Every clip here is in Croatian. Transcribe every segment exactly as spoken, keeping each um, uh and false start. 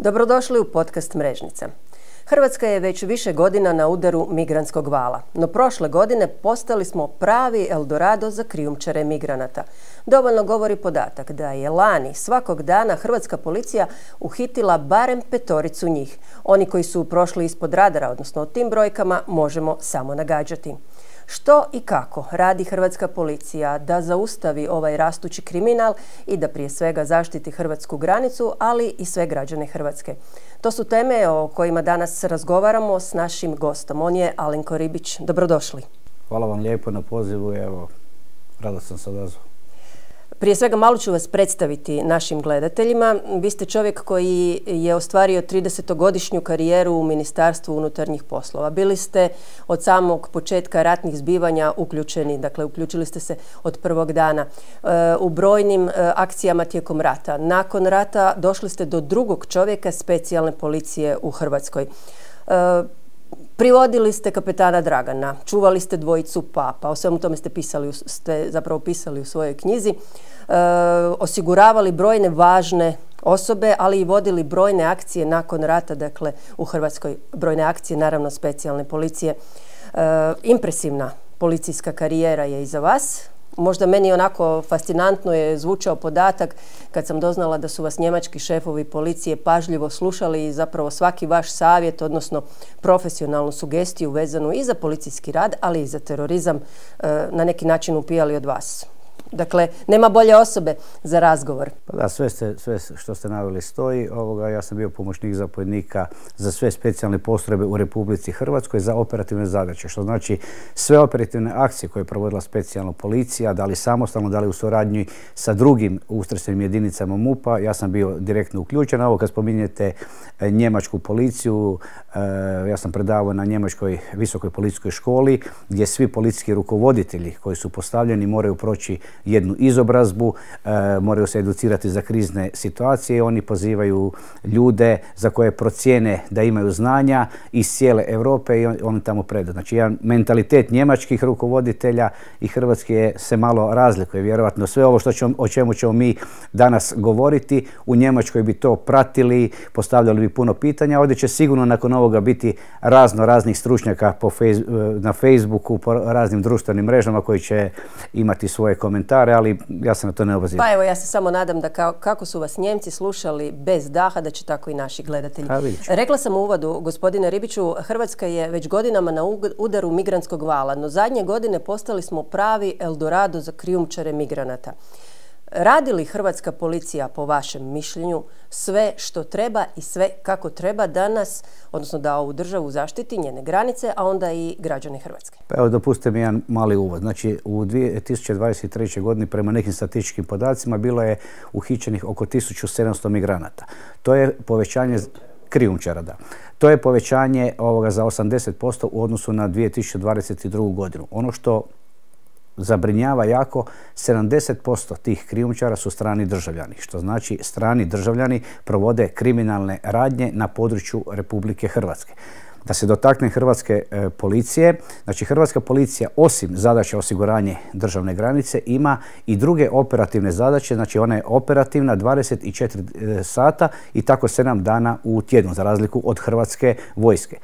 Dobrodošli u podcast Mrežnica. Hrvatska je već više godina na udaru migrantskog vala, no prošle godine postali smo pravi Eldorado za krijumčare migranata. Dovoljno govori podatak da je lani svakog dana hrvatska policija uhitila barem petoricu njih. Oni koji su prošli ispod radara, odnosno o tim brojkama, možemo samo nagađati. Što i kako radi hrvatska policija da zaustavi ovaj rastući kriminal i da prije svega zaštiti hrvatsku granicu, ali i sve građane Hrvatske? To su teme o kojima danas razgovaramo s našim gostom. On je Alenko Ribić. Dobrodošli. Hvala vam lijepo na pozivu. Evo, rado sam se odazvao. Prije svega malo ću vas predstaviti našim gledateljima. Vi ste čovjek koji je ostvario tridesetogodišnju karijeru u Ministarstvu unutarnjih poslova. Bili ste od samog početka ratnih zbivanja uključeni, dakle uključili ste se od prvog dana u brojnim akcijama tijekom rata. Nakon rata došli ste do drugog čovjeka specijalne policije u Hrvatskoj. Privodili ste kapetana Dragana, čuvali ste dvojicu papa, o svemu tome ste pisali, ste zapravo pisali u svojoj knjizi, e, osiguravali brojne važne osobe, ali i vodili brojne akcije nakon rata, dakle u Hrvatskoj, brojne akcije, naravno specijalne policije. E, impresivna policijska karijera je iza vas. Možda meni onako fascinantno je zvučao podatak kad sam doznala da su vas njemački šefovi policije pažljivo slušali i zapravo svaki vaš savjet, odnosno profesionalnu sugestiju vezanu i za policijski rad, ali i za terorizam na neki način upijali od vas. Dakle, nema bolje osobe za razgovor. Pa da, sve, ste, sve što ste naveli stoji. Ovoga, ja sam bio pomoćnik zapovjednika za sve specijalne postrojbe u Republici Hrvatskoj za operativne zadaće. Što znači sve operativne akcije koje je provodila specijalna policija, da li samostalno, da li u suradnji sa drugim ustrojstvenim jedinicama MUP-a, ja sam bio direktno uključen. Ovo kad spominjete njemačku policiju, ja sam predavao na njemačkoj visokoj policijskoj školi gdje svi policijski rukovoditelji koji su postavljeni moraju proći jednu izobrazbu, e, moraju se educirati za krizne situacije. Oni pozivaju ljude za koje procijene da imaju znanja iz cijele Europe i on, oni tamo predu. Znači, jedan mentalitet njemačkih rukovoditelja i hrvatski je, se malo razlikuje. Vjerojatno sve ovo što ćemo, o čemu ćemo mi danas govoriti, u Njemačkoj bi to pratili, postavljali bi puno pitanja. Ovdje će sigurno nakon ovoga biti razno raznih stručnjaka po fejs, na Facebooku, po raznim društvenim mrežama koji će imati svoje komentare, ali ja se na to ne obaziram. Pa evo, ja se samo nadam da kao, kako su vas Njemci slušali bez daha, da će tako i naši gledatelji. Rekla sam u uvodu, gospodine Ribiću, Hrvatska je već godinama na udaru migrantskog vala, no zadnje godine postali smo pravi Eldorado za krijumčare migranata. Radi li hrvatska policija, po vašem mišljenju, sve što treba i sve kako treba danas, odnosno da ovu državu zaštiti, njene granice, a onda i građane Hrvatske? Pa evo, dopustite mi jedan mali uvod. Znači, u dvije tisuće dvadeset trećoj. godini prema nekim statističkim podacima bilo je uhićenih oko tisuću sedamsto migranata. To je povećanje krijumčara, da. To je povećanje ovoga za osamdeset posto u odnosu na dvije tisuće dvadeset drugu. godinu. Ono što zabrinjava jako, sedamdeset posto tih krijumčara su strani državljani, što znači strani državljani provode kriminalne radnje na području Republike Hrvatske. Da se dotakne hrvatske e, policije, znači hrvatska policija osim zadaća osiguranje državne granice ima i druge operativne zadaće, znači ona je operativna dvadeset četiri sata i tako sedam dana u tjednu, za razliku od hrvatske vojske.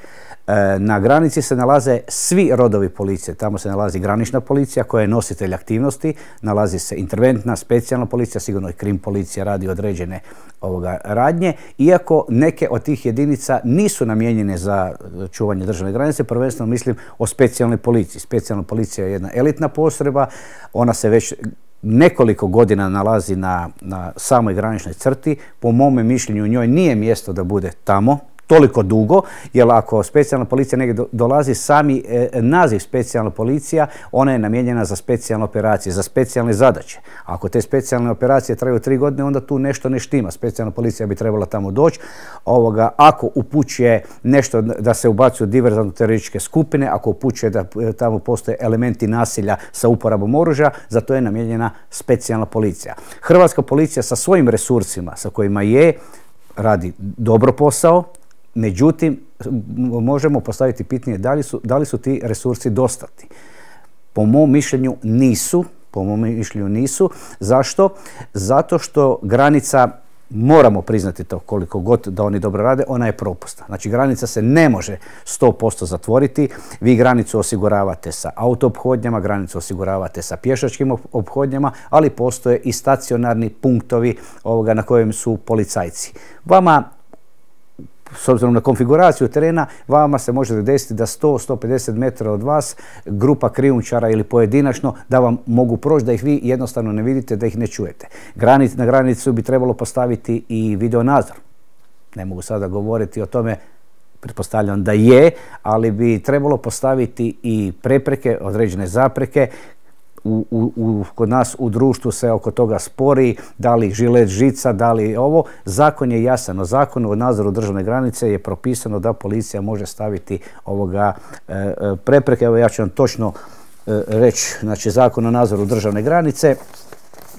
E, na granici se nalaze svi rodovi policije, tamo se nalazi granična policija koja je nositelj aktivnosti, nalazi se interventna, specijalna policija, sigurno i krim policija radi određene ovoga radnje, iako neke od tih jedinica nisu namijenjene za čuvanje državne granice, prvenstveno mislim o specijalnoj policiji. Specijalna policija je jedna elitna postrojba, ona se već nekoliko godina nalazi na, na samoj graničnoj crti. Po mome mišljenju njoj nije mjesto da bude tamo toliko dugo, jer ako specijalna policija negdje dolazi, sami e, naziv specijalna policija, ona je namijenjena za specijalne operacije, za specijalne zadaće. Ako te specijalne operacije traju tri godine, onda tu nešto ne štima. Specijalna policija bi trebala tamo doći. Ovoga, ako upućuje nešto da se ubacuju diverzantno terorističke skupine, ako upućuje da tamo postoje elementi nasilja sa uporabom oružja, za to je namijenjena specijalna policija. Hrvatska policija sa svojim resursima, sa kojima je, radi dobro posao. Međutim, možemo postaviti pitanje da li su, da li su ti resursi dostatni. Po mom mišljenju nisu. Po mom mišljenju nisu. Zašto? Zato što granica moramo priznati to koliko god da oni dobro rade, ona je propusna. Znači granica se ne može sto posto zatvoriti. Vi granicu osiguravate sa auto-ophodnjama, granicu osiguravate sa pješačkim ophodnjama, ali postoje i stacionarni punktovi ovoga na kojem su policajci. Vama, s obzirom na konfiguraciju terena, vama se može desiti da sto do sto pedeset metara od vas grupa krijumčara ili pojedinačno da vam mogu proći, da ih vi jednostavno ne vidite, da ih ne čujete. Granic, na granicu bi trebalo postaviti i videonadzor. Ne mogu sada govoriti o tome, pretpostavljam da je, ali bi trebalo postaviti i prepreke, određene zapreke. U, u, u, kod nas u društvu se oko toga spori, da li žilet žica, da li ovo. Zakon je jasan. U Zakonu o nadzoru državne granice je propisano da policija može staviti ovoga e, prepreke. Evo ja ću vam točno e, reći, znači Zakon o nadzoru državne granice.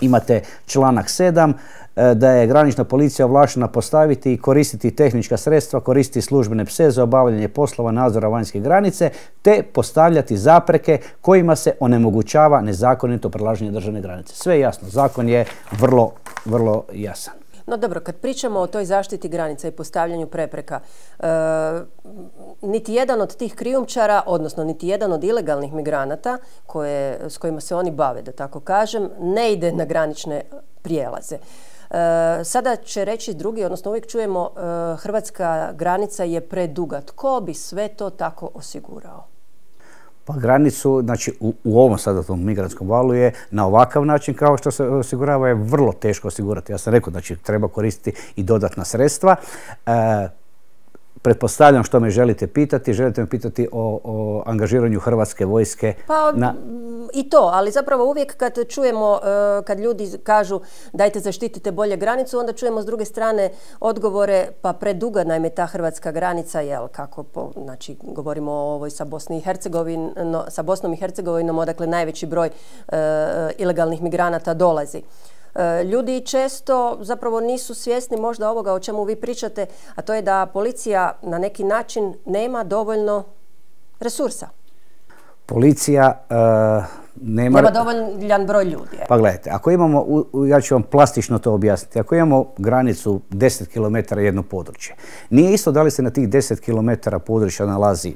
Imate članak sedam, da je granična policija ovlaštena postaviti i koristiti tehnička sredstva, koristiti službene pse za obavljanje poslova nadzora vanjske granice, te postavljati zapreke kojima se onemogućava nezakonito prelaženje državne granice. Sve je jasno, zakon je vrlo, vrlo jasan. No dobro, kad pričamo o toj zaštiti granica i postavljanju prepreka, e, niti jedan od tih krijumčara, odnosno niti jedan od ilegalnih migranata koje, s kojima se oni bave, da tako kažem, ne ide na granične prijelaze. E, sada će reći drugi, odnosno uvijek čujemo e, hrvatska granica je preduga. Tko bi sve to tako osigurao? Pa granicu, znači u, u ovom sada tom migrantskom valu je na ovakav način kao što se osigurava je vrlo teško osigurati. Ja sam rekao, znači treba koristiti i dodatna sredstva. E, Pretpostavljam što me želite pitati. Želite me pitati o, o angažiranju Hrvatske vojske? Pa na... i to, ali zapravo uvijek kad čujemo, kad ljudi kažu dajte zaštitite bolje granicu, onda čujemo s druge strane odgovore pa preduga naime ta hrvatska granica, jel, kako, po, znači govorimo o ovoj sa, Bosni i Hercegovino, sa Bosnom i Hercegovinom, odakle najveći broj e, ilegalnih migranata dolazi. Ljudi često zapravo nisu svjesni možda ovoga o čemu vi pričate, a to je da policija na neki način nema dovoljno resursa. Policija uh, nema... Nema dovoljan broj ljudi. Je. Pa gledajte, ako imamo, ja ću vam plastično to objasniti, ako imamo granicu deset kilometara jedno područje, nije isto da li se na tih deset kilometara područja nalazi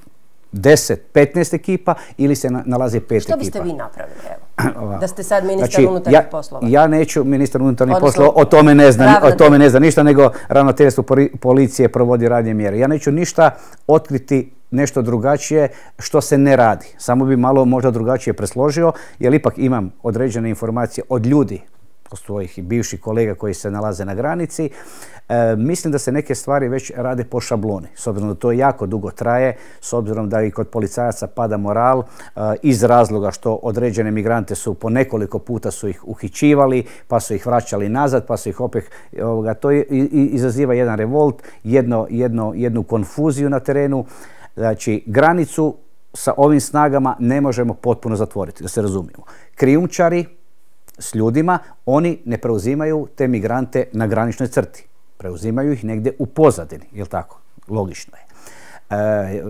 deset, petnaest ekipa ili se nalazi pet ekipa. Što biste vi napravili, evo? Da ste sad ministar znači, unutarnjih ja, poslova. Ja neću ministar unutarnjih poslova, o tome ne zna, o tome ne zna ništa, nego ravnateljstvo policije provodi radnje mjere. Ja neću ništa otkriti nešto drugačije što se ne radi. Samo bi malo možda drugačije presložio, jer ipak imam određene informacije od ljudi, od svojih i bivših kolega koji se nalaze na granici. E, mislim da se neke stvari već rade po šabloni, s obzirom da to jako dugo traje, s obzirom da i kod policajaca pada moral e, iz razloga što određene migrante su po nekoliko puta su ih uhićivali, pa su ih vraćali nazad, pa su ih opet, ovoga, to i, i, izaziva jedan revolt, jedno, jedno, jednu konfuziju na terenu. Znači, granicu sa ovim snagama ne možemo potpuno zatvoriti, da se razumijemo. Krijumčari s ljudima, oni ne preuzimaju te migrante na graničnoj crti. Preuzimaju ih negdje u pozadini, jel tako? Logično je. E,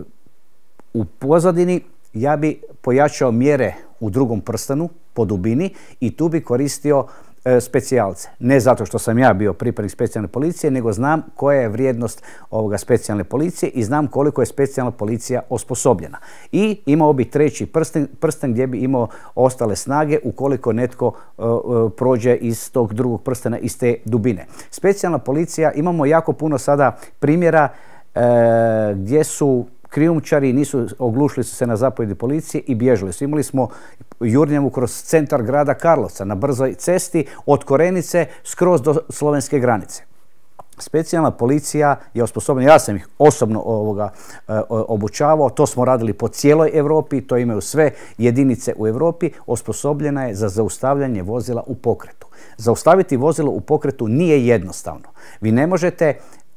u pozadini ja bi pojačao mjere u drugom prstenu, po dubini, i tu bi koristio e, specijalce. Ne zato što sam ja bio pripadnik specijalne policije, nego znam koja je vrijednost ovoga specijalne policije i znam koliko je specijalna policija osposobljena. I imao bi treći prsten, prsten gdje bi imao ostale snage ukoliko netko uh, uh, prođe iz tog drugog prstena, iz te dubine. Specijalna policija, imamo jako puno sada primjera uh, gdje su krijumčari nisu, oglušili su se na zapovjedi policije i bježali su. Imali smo jurnjavu kroz centar grada Karlovca na brzoj cesti od Korenice skroz do slovenske granice. Specijalna policija je osposobljena, ja sam ih osobno ovoga, e, obučavao, to smo radili po cijeloj Europi, to imaju sve jedinice u Europi, osposobljena je za zaustavljanje vozila u pokretu. Zaustaviti vozilo u pokretu nije jednostavno. Vi ne možete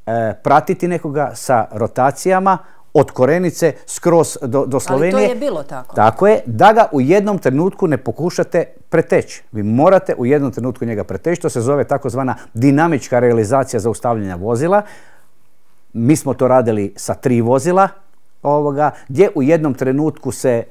e, pratiti nekoga sa rotacijama od Korenice skroz do, do Slovenije. Ali to je bilo tako. Tako je, da ga u jednom trenutku ne pokušate preteći. Vi morate u jednom trenutku njega preteći. To se zove takozvana dinamička realizacija zaustavljanja vozila. Mi smo to radili sa tri vozila, ovoga, gdje u jednom trenutku se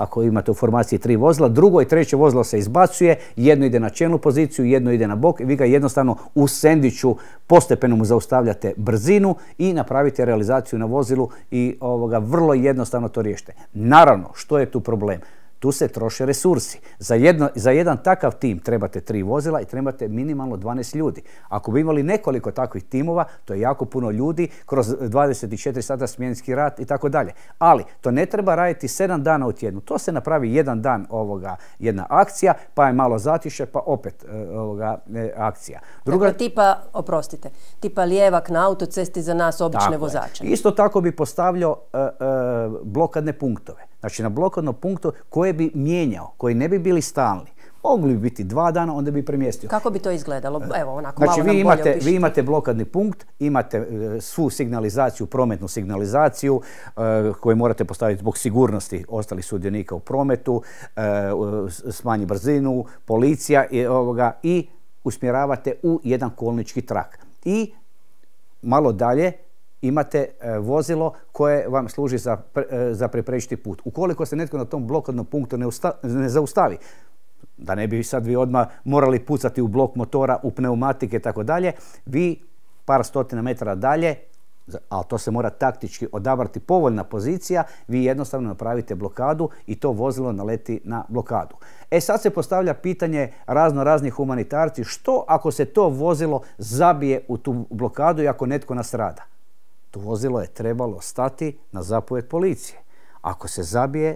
ako imate u formaciji tri vozila, drugo i treće vozilo se izbacuje, jedno ide na čelnu poziciju, jedno ide na bok i vi ga jednostavno u sendviču postepeno mu zaustavljate brzinu i napravite realizaciju na vozilu i ovoga, vrlo jednostavno to riješite. Naravno, što je tu problem? Tu se troše resursi. Za, jedno, za jedan takav tim trebate tri vozila i trebate minimalno dvanaest ljudi. Ako bi imali nekoliko takvih timova, to je jako puno ljudi, kroz dvadeset četiri sata smjenski rad i tako dalje. Ali to ne treba raditi sedam dana u tjednu. To se napravi jedan dan ovoga, jedna akcija, pa je malo zatiše, pa opet ovoga, akcija. Druga... Dakle, tipa, oprostite, tipa lijevak na autocesti za nas obične vozače. Isto tako bi postavljao uh, uh, blokadne punktove. Znači na blokadnom punktu koje bi mijenjao, koji ne bi bili stalni. Mogli bi biti dva dana, onda bi premjestio. Kako bi to izgledalo? Evo, onako znači, malo nam vi imate, bolje opišite. Vi imate blokadni punkt, imate uh, svu signalizaciju, prometnu signalizaciju uh, koju morate postaviti zbog sigurnosti ostalih sudionika u prometu, uh, smanji brzinu, policija i, ovoga, i usmjeravate u jedan kolnički trak. I malo dalje imate e, vozilo koje vam služi za, e, za preprečiti put. Ukoliko se netko na tom blokadnom punktu ne, usta, ne zaustavi, da ne bi sad vi odmah morali pucati u blok motora, u pneumatike i tako dalje, vi par stotina metara dalje, ali to se mora taktički odabrati povoljna pozicija, vi jednostavno napravite blokadu i to vozilo naleti na blokadu. E sad se postavlja pitanje razno raznih humanitarci, što ako se to vozilo zabije u tu blokadu i ako netko nastrada? To vozilo je trebalo stati na zapovjed policije. Ako se zabije,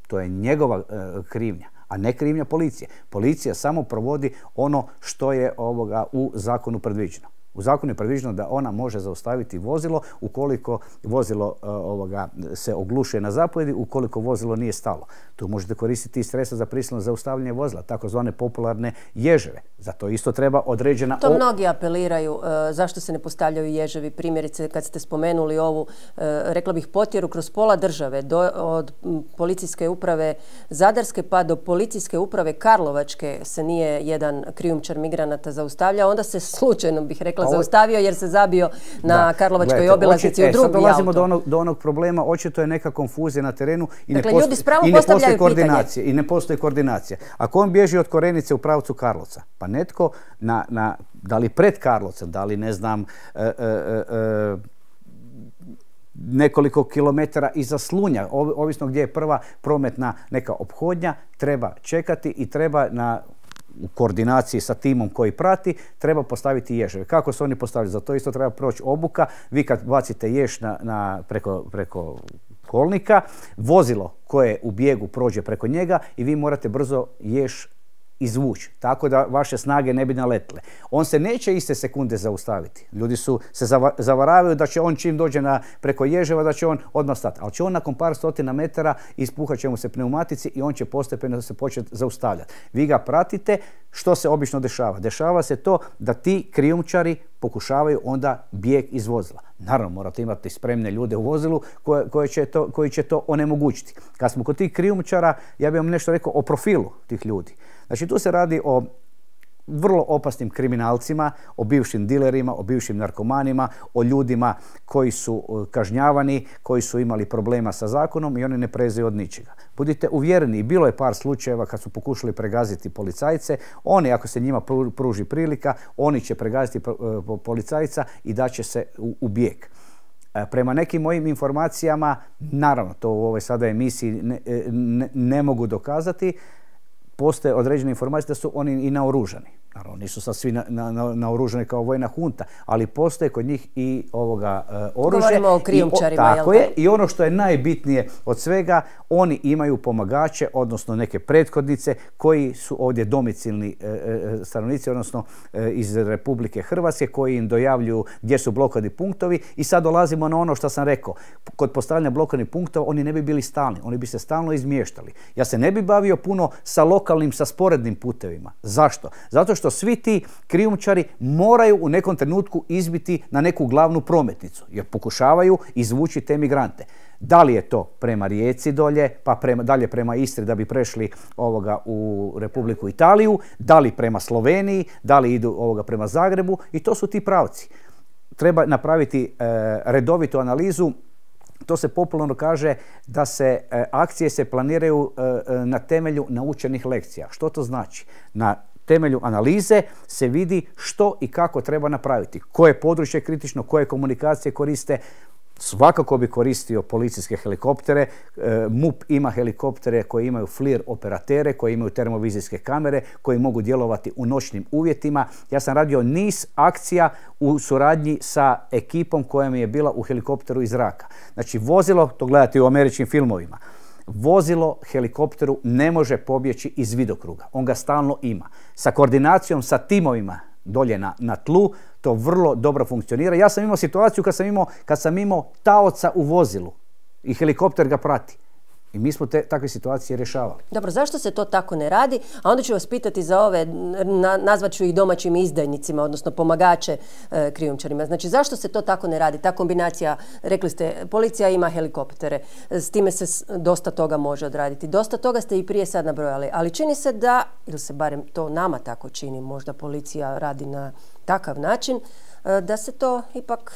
to je njegova e, krivnja, a ne krivnja policije. Policija samo provodi ono što je ovoga u zakonu predviđeno. U zakonu je predviđeno da ona može zaustaviti vozilo ukoliko vozilo uh, ovoga, se oglušuje na zapovjedi, ukoliko vozilo nije stalo. Tu možete koristiti i sredstva za prisilno zaustavljanje vozila, takozvane popularne ježeve. Za to isto treba određena... To mnogi apeliraju. Uh, zašto se ne postavljaju ježevi? Primjerice, kad ste spomenuli ovu, uh, rekla bih, potjeru kroz pola države, do, od m, policijske uprave Zadarske pa do policijske uprave Karlovačke se nije jedan krijumčar migranata zaustavljao, onda se slučajno, bih rekla, zaustavio jer se zabio na da, Karlovačkoj gledajte, obilaznici u drugi auto. Sad dolazimo do onog, do onog problema, očito je neka konfuzija na terenu i dakle, ne, ljudi postoji, i ne postoji koordinacija. I ne postoji koordinacija. Ako on bježi od Korenice u pravcu Karlovca, pa netko, na, na, da li pred Karlovcem, da li ne znam, e, e, e, nekoliko kilometara iza Slunja, ovisno gdje je prva prometna neka ophodnja, treba čekati i treba na u koordinaciji sa timom koji prati, treba postaviti ježeve. Kako se oni postavljaju? Za to isto treba proći obuka. Vi kad bacite jež na, na, preko, preko kolnika, vozilo koje u bijegu prođe preko njega i vi morate brzo jež izvući, tako da vaše snage ne bi naletile. On se neće iste sekunde zaustaviti. Ljudi su se zavaravaju da će on čim dođe na, preko ježeva, da će on odmah stati. Ali će on nakon par stotina metara ispuhat će mu se pneumatici i on će postepeno se početi zaustavljati. Vi ga pratite, što se obično dešava? Dešava se to da ti krijumčari pokušavaju onda bijeg iz vozila. Naravno, morate imati spremne ljude u vozilu koje, koje će to, koji će to onemogućiti. Kad smo kod tih krijumčara, ja bih vam nešto rekao o profilu tih ljudi. Znači, tu se radi o vrlo opasnim kriminalcima, o bivšim dilerima, o bivšim narkomanima, o ljudima koji su kažnjavani, koji su imali problema sa zakonom i oni ne prezaju od ničega. Budite uvjereni, bilo je par slučajeva kad su pokušali pregaziti policajce, oni, ako se njima pruži prilika, oni će pregaziti policajca i daće se u, u bijeg. Prema nekim mojim informacijama, naravno, to u ovoj sada emisiji ne, ne, ne mogu dokazati, postoje određene informacije da su oni i naoružani. Naravno, nisu sad svi naoružani kao vojna hunta, ali postoje kod njih i ovoga uh, oružje. Govorimo o krijumčarima, jel' tako je. I ono što je najbitnije od svega, oni imaju pomagače, odnosno neke prethodnice koji su ovdje domicilni uh, stanovnici, odnosno uh, iz Republike Hrvatske, koji im dojavljuju gdje su blokadni punktovi. I sad dolazimo na ono što sam rekao. Kod postavljanja blokadnih punktova oni ne bi bili stalni, oni bi se stalno izmještali. Ja se ne bi bavio puno sa lokalnim, sa sporednim putevima. Zašto? Zato što svi ti krijumčari moraju u nekom trenutku izbiti na neku glavnu prometnicu, jer pokušavaju izvući te migrante. Da li je to prema Rijeci dolje, pa prema, dalje prema Istri da bi prešli ovoga u Republiku Italiju, da li prema Sloveniji, da li idu ovoga prema Zagrebu, i to su ti pravci. Treba napraviti e, redovitu analizu to se popularno kaže da se e, akcije se planiraju e, na temelju naučenih lekcija. Što to znači? Na temelju analize se vidi što i kako treba napraviti. Koje područje kritično, koje komunikacije koriste. Svakako bi koristio policijske helikoptere. E, MUP ima helikoptere koji imaju FLIR operatere, koji imaju termovizijske kamere, koji mogu djelovati u noćnim uvjetima. Ja sam radio niz akcija u suradnji sa ekipom koja mi je bila u helikopteru iz zraka. Znači vozilo, to gledate u američkim filmovima, vozilo helikopteru ne može pobjeći iz vidokruga. On ga stalno ima. Sa koordinacijom, sa timovima dolje na, na tlu, to vrlo dobro funkcionira. Ja sam imao situaciju kad sam imao, kad sam imao taoca u vozilu i helikopter ga prati. I mi smo te takve situacije rješavali. Dobro, zašto se to tako ne radi? A onda ću vas pitati za ove, na, nazvat ću ih domaćim izdajnicima, odnosno pomagače e, krijumčarima. Znači, zašto se to tako ne radi? Ta kombinacija, rekli ste, policija ima helikoptere, s time se dosta toga može odraditi. Dosta toga ste i prije sad nabrojali, ali čini se da, ili se barem to nama tako čini, možda policija radi na takav način, e, da se to ipak...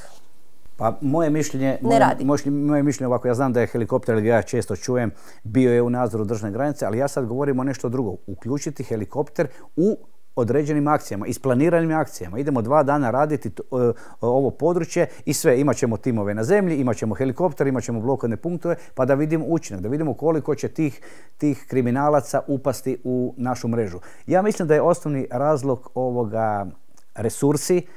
Pa moje mišljenje, moje, moje, moje mišljenje ovako, ja znam da je helikopter, ali ja često čujem, bio je u nadzoru državne granice, ali ja sad govorim o nešto drugo. Uključiti helikopter u određenim akcijama, isplaniranim akcijama. Idemo dva dana raditi to, uh, ovo područje i sve. Imat ćemo timove na zemlji, imat ćemo helikopter, imat ćemo blokadne punktove, pa da vidimo učinak, da vidimo koliko će tih, tih kriminalaca upasti u našu mrežu. Ja mislim da je osnovni razlog ovoga resursi.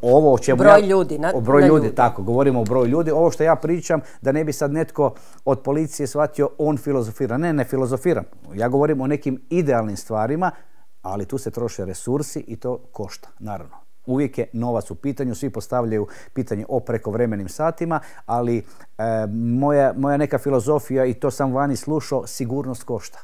Ovo o čemu broj ja, ljudi, na, o broj na ljudi, ljudi, tako, govorimo o broju ljudi. Ovo što ja pričam, da ne bi sad netko od policije shvatio, on filozofira. Ne, ne filozofiram. Ja govorim o nekim idealnim stvarima, ali tu se troše resursi i to košta, naravno. Uvijek je novac u pitanju, svi postavljaju pitanje o prekovremenim satima, ali e, moja, moja neka filozofija, i to sam vani slušao, sigurnost košta.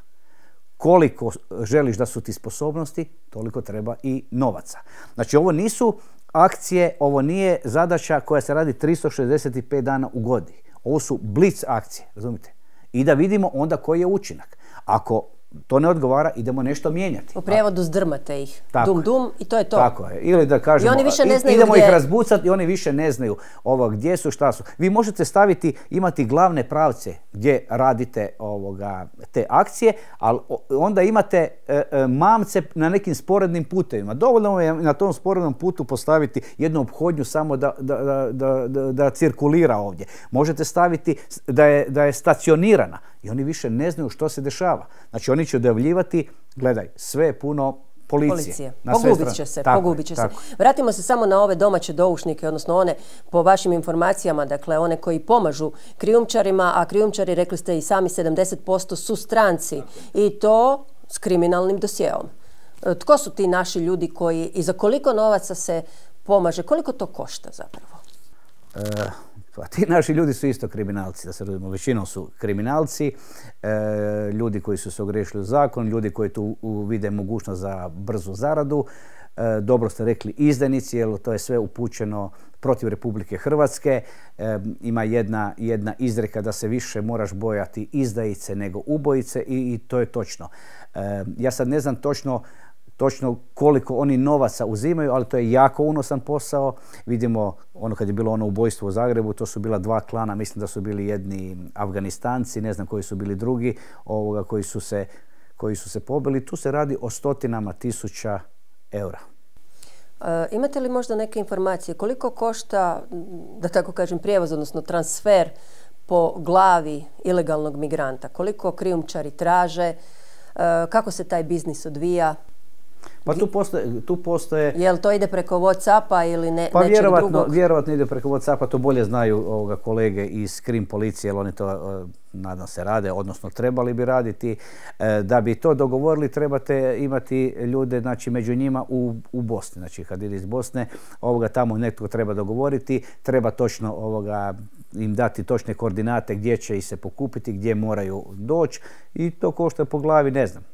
Koliko želiš da su ti sposobnosti, toliko treba i novaca. Znači, ovo nisu akcije, ovo nije zadaća koja se radi tristo šezdeset pet dana u godini. Ovo su blic akcije, razumite? I da vidimo onda koji je učinak. Ako to ne odgovara, idemo nešto mijenjati. U prijevodu zdrmate ih. Tako dum dum i to je to. Tako je. Ili da kažemo, I oni više ne znaju idemo gdje... ih razbucati i oni više ne znaju ovo, gdje su, šta su. Vi možete staviti, imati glavne pravce gdje radite ovoga, te akcije, ali onda imate e, e, mamce na nekim sporednim putevima. Dovoljno je na tom sporednom putu postaviti jednu ophodnju samo da, da, da, da, da cirkulira ovdje. Možete staviti da je, da je stacionirana i oni više ne znaju što se dešava. Znači oni će odjavljivati, gledaj, sve je puno policije. Policije. Pogubit će se, tako, pogubit će se. tako. Vratimo se samo na ove domaće doušnike, odnosno one, po vašim informacijama, dakle one koji pomažu krijumčarima, a krijumčari, rekli ste i sami, sedamdeset posto su stranci i to s kriminalnim dosjeom. Tko su ti naši ljudi koji i za koliko novaca se pomaže? Koliko to košta zapravo? E, pa ti naši ljudi su isto kriminalci, da se razumijemo. Većinom su kriminalci, e, ljudi koji su se ogriješili u zakon, ljudi koji tu vide mogućnost za brzu zaradu. E, dobro ste rekli izdajnici, jer to je sve upućeno protiv Republike Hrvatske. E, ima jedna, jedna izreka da se više moraš bojati izdajice nego ubojice i, i to je točno. E, ja sad ne znam točno točno koliko oni novaca uzimaju, ali to je jako unosan posao. Vidimo, ono kad je bilo ono ubojstvo u Zagrebu, to su bila dva klana, mislim da su bili jedni Afganistanci, ne znam koji su bili drugi, ovoga, koji su se, koji su se pobili. Tu se radi o stotinama tisuća eura. E, imate li možda neke informacije koliko košta, da tako kažem, prijevoz, odnosno transfer po glavi ilegalnog migranta? Koliko krijumčari traže? E, kako se taj biznis odvija? Pa tu postoje, tu postoje... Jel to ide preko Whatsappa ili ne, pa nečeg vjerovatno, drugog? vjerovatno ide preko Whatsappa, to bolje znaju ovoga kolege iz krim policije, jer oni to, uh, nadam se, rade, odnosno trebali bi raditi. Uh, da bi to dogovorili, trebate imati ljude, znači, među njima u, u Bosni. Znači, kad ide iz Bosne, ovoga, tamo netko treba dogovoriti, treba točno ovoga, im dati točne koordinate gdje će ih se pokupiti, gdje moraju doći i to košta po glavi, ne znam.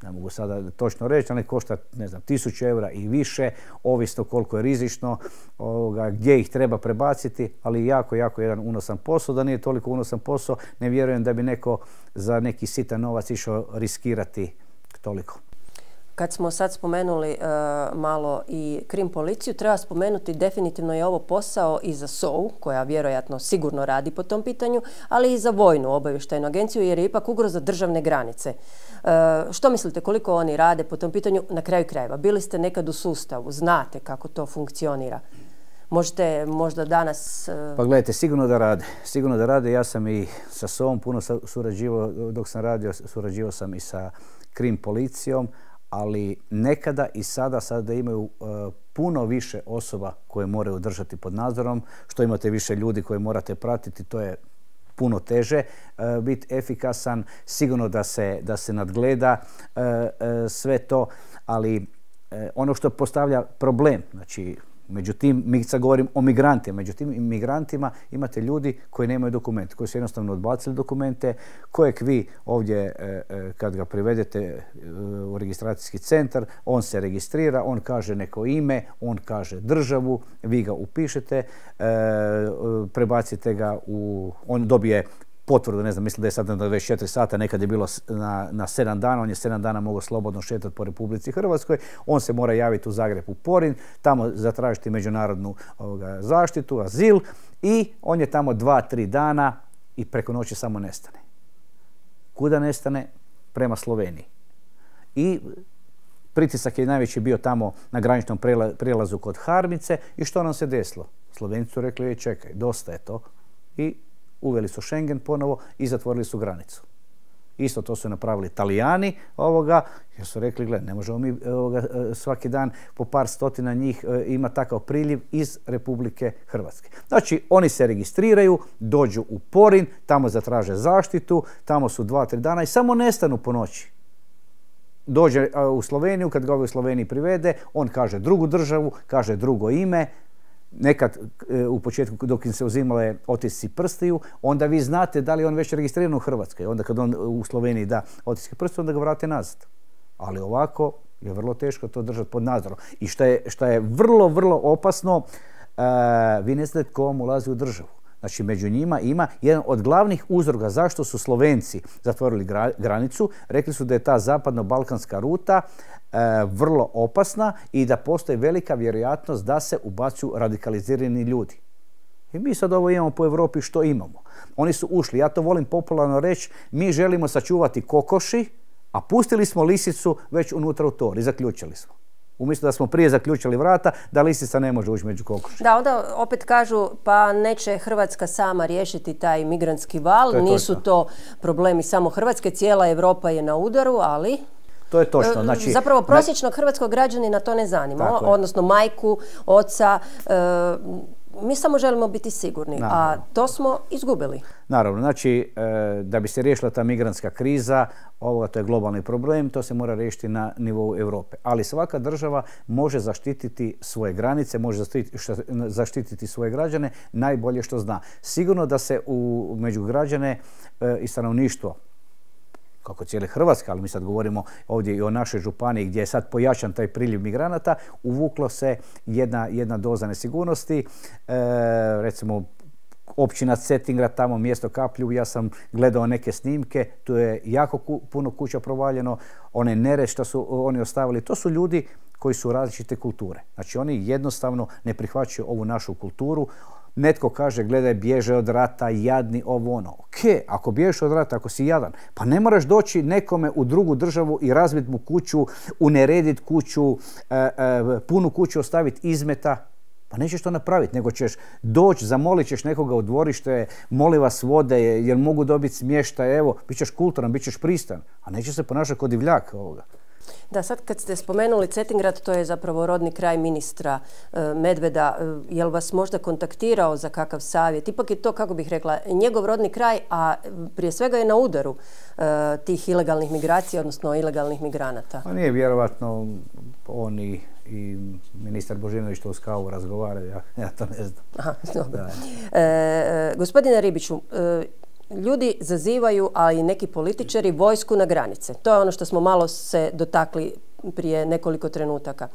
Ne mogu sada točno reći, ali košta, ne znam, tisuću eura i više, ovisno koliko je rizično, ovoga, gdje ih treba prebaciti, ali jako, jako jedan unosan posao. Da nije toliko unosan posao, ne vjerujem da bi neko za neki sitan novac išao riskirati toliko. Kad smo sad spomenuli uh, malo i krim policiju, treba spomenuti definitivno je ovo posao i za S O U, koja vjerojatno sigurno radi po tom pitanju, ali i za vojnu obavještajnu agenciju, jer je ipak ugroza državne granice. Uh, što mislite, koliko oni rade po tom pitanju? Na kraju krajeva, bili ste nekad u sustavu, znate kako to funkcionira. Možete možda danas... Uh... Pa gledajte, sigurno da rade. Sigurno da rade. Ja sam i sa S O U-om puno surađivao, dok sam radio, surađivao sam i sa krim policijom, ali nekada i sada, sada imaju uh, puno više osoba koje moraju držati pod nadzorom. Što imate više ljudi koje morate pratiti, to je puno teže uh, biti efikasan. Sigurno da se, da se nadgleda uh, uh, sve to, ali uh, ono što postavlja problem, znači međutim, mi sad govorim o migrantima, međutim, migrantima imate ljudi koji nemaju dokumente, koji su jednostavno odbacili dokumente, kojeg vi ovdje, kad ga privedete u registracijski centar, on se registrira, on kaže neko ime, on kaže državu, vi ga upišete, prebacite ga u, on dobije potvrdu, ne znam, mislim da je sad na dvadeset četiri sata, nekad je bilo na, na sedam dana, on je sedam dana mogao slobodno šetati po Republici Hrvatskoj, on se mora javiti u Zagreb u Porin, tamo zatražiti međunarodnu ovoga, zaštitu, azil i on je tamo dva, tri dana i preko noći samo nestane. Kuda nestane? Prema Sloveniji. I pritisak je najveći bio tamo na graničnom prijelazu kod Harmice i što nam se desilo? Slovenci su rekli, čekaj, dosta je to i uveli su Schengen ponovo i zatvorili su granicu. Isto to su napravili Talijani ovoga, jer su rekli, gled, ne možemo mi ovoga, svaki dan po par stotina njih ima takav priljev iz Republike Hrvatske. Znači, oni se registriraju, dođu u Porin, tamo zatraže zaštitu, tamo su dva, tri dana i samo nestanu po noći. Dođe u Sloveniju, kad ga ovaj u Sloveniji privede, on kaže drugu državu, kaže drugo ime. Nekad u početku dok im se uzimale otisci prstiju, onda vi znate da li on već registriran u Hrvatskoj. Onda kad on u Sloveniji da otiske prstiju, onda ga vrate nazad. Ali ovako je vrlo teško to držati pod nadzorom. I što je, što je vrlo, vrlo opasno, uh, vi ne znate tko vam ulazi u državu. Znači, među njima ima jedan od glavnih uzroka zašto su Slovenci zatvorili gra, granicu. Rekli su da je ta zapadno-balkanska ruta e, vrlo opasna i da postoji velika vjerojatnost da se ubacuju radikalizirani ljudi. I mi sad ovo imamo po Europi što imamo. Oni su ušli, ja to volim popularno reći, mi želimo sačuvati kokoši, a pustili smo lisicu već unutra u tor i zaključili smo. Umjesto da smo prije zaključili vrata, da lisica ne može ući među kokoši. Da, onda opet kažu, pa neće Hrvatska sama riješiti taj migrantski val, to nisu točno. To problemi samo Hrvatske, cijela Europa je na udaru, ali... To je točno. Znači, zapravo prosječnog hrvatskog građanina to ne zanima, odnosno majku, oca, e, mi samo želimo biti sigurni, naravno. A to smo izgubili. Naravno, znači e, da bi se riješila ta migrantska kriza, ovoga, to je globalni problem, to se mora riješiti na nivou Europe. Ali svaka država može zaštititi svoje granice, može zaštititi, zaštititi svoje građane najbolje što zna. Sigurno da se u, među građane e, i stanovništvo, kako cijele Hrvatske, ali mi sad govorimo ovdje i o našoj županiji gdje je sad pojačan taj priljev migranata, uvuklo se jedna, jedna doza nesigurnosti. E, recimo, općina Cetingrad, tamo mjesto Kaplju, ja sam gledao neke snimke, tu je jako ku, puno kuća provaljeno, one nered što su oni ostavili, to su ljudi koji su različite kulture. Znači, oni jednostavno ne prihvaćaju ovu našu kulturu. Netko kaže, gledaj, bježe od rata, jadni, ovo ono. Ok, ako bježeš od rata, ako si jadan, pa ne moraš doći nekome u drugu državu i razbiti mu kuću, unerediti kuću, e, e, punu kuću ostaviti izmeta. Pa nećeš to napraviti, nego ćeš doći, zamolit ćeš nekoga u dvorište, moli vas vode, jer mogu dobiti smještaj, evo, bit ćeš kulturan, bit ćeš pristan, a nećeš se ponašati kod divljak ovoga. Da, sad kad ste spomenuli Cetingrad, to je zapravo rodni kraj ministra e, Medveda. E, jel vas možda kontaktirao za kakav savjet? Ipak je to, kako bih rekla, njegov rodni kraj, a prije svega je na udaru e, tih ilegalnih migracija, odnosno ilegalnih migranata. Pa nije vjerovatno on i, i ministar Božinović to uz kavu razgovaraju, ja, ja to ne znam. Aha, dobro. E, e, gospodine Ribiću, e, ljudi zazivaju, a i neki političari, vojsku na granice. To je ono što smo malo se dotakli prije nekoliko trenutaka.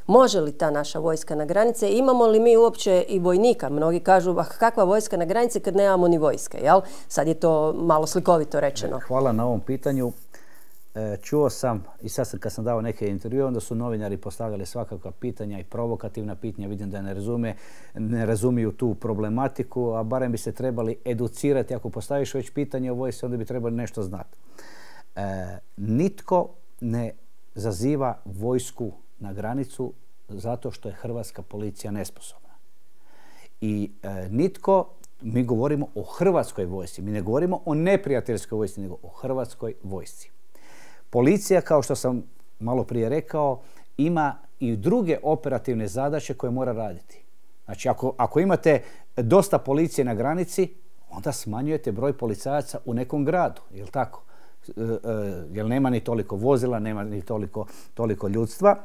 Može li ta naša vojska na granice? Imamo li mi uopće i vojnika? Mnogi kažu, ah, kakva vojska na granice kad nemamo ni vojske, jel? Sad je to malo slikovito rečeno. Hvala na ovom pitanju. čuo sam, i sad sam, kad sam dao neke intervjue, onda su novinari postavljali svakakva pitanja i provokativna pitanja. Vidim da ne razume, ne razumiju tu problematiku, a barem bi se trebali educirati. Ako postaviš već pitanje o vojsci, onda bi trebali nešto znati. E, nitko ne zaziva vojsku na granicu zato što je hrvatska policija nesposobna. I e, nitko, mi govorimo o hrvatskoj vojsci, mi ne govorimo o neprijateljskoj vojsci, nego o hrvatskoj vojsci. Policija, kao što sam malo prije rekao, ima i druge operativne zadaće koje mora raditi. Znači, ako, ako imate dosta policije na granici, onda smanjujete broj policajaca u nekom gradu, jel' tako? E, e, jer nema ni toliko vozila, nema ni toliko, toliko ljudstva.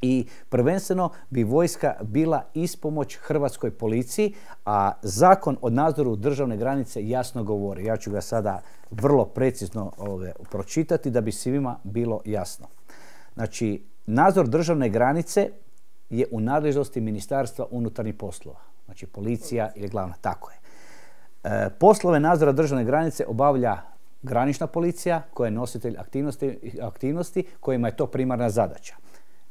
I prvenstveno bi vojska bila ispomoć hrvatskoj policiji, a zakon o nadzoru državne granice jasno govori. Ja ću ga sada vrlo precizno ove, pročitati da bi svima bilo jasno. Znači, nadzor državne granice je u nadležnosti Ministarstva unutarnjih poslova. Znači, policija je glavna, tako je. E, poslove nadzora državne granice obavlja granična policija koja je nositelj aktivnosti, aktivnosti kojima je to primarna zadaća.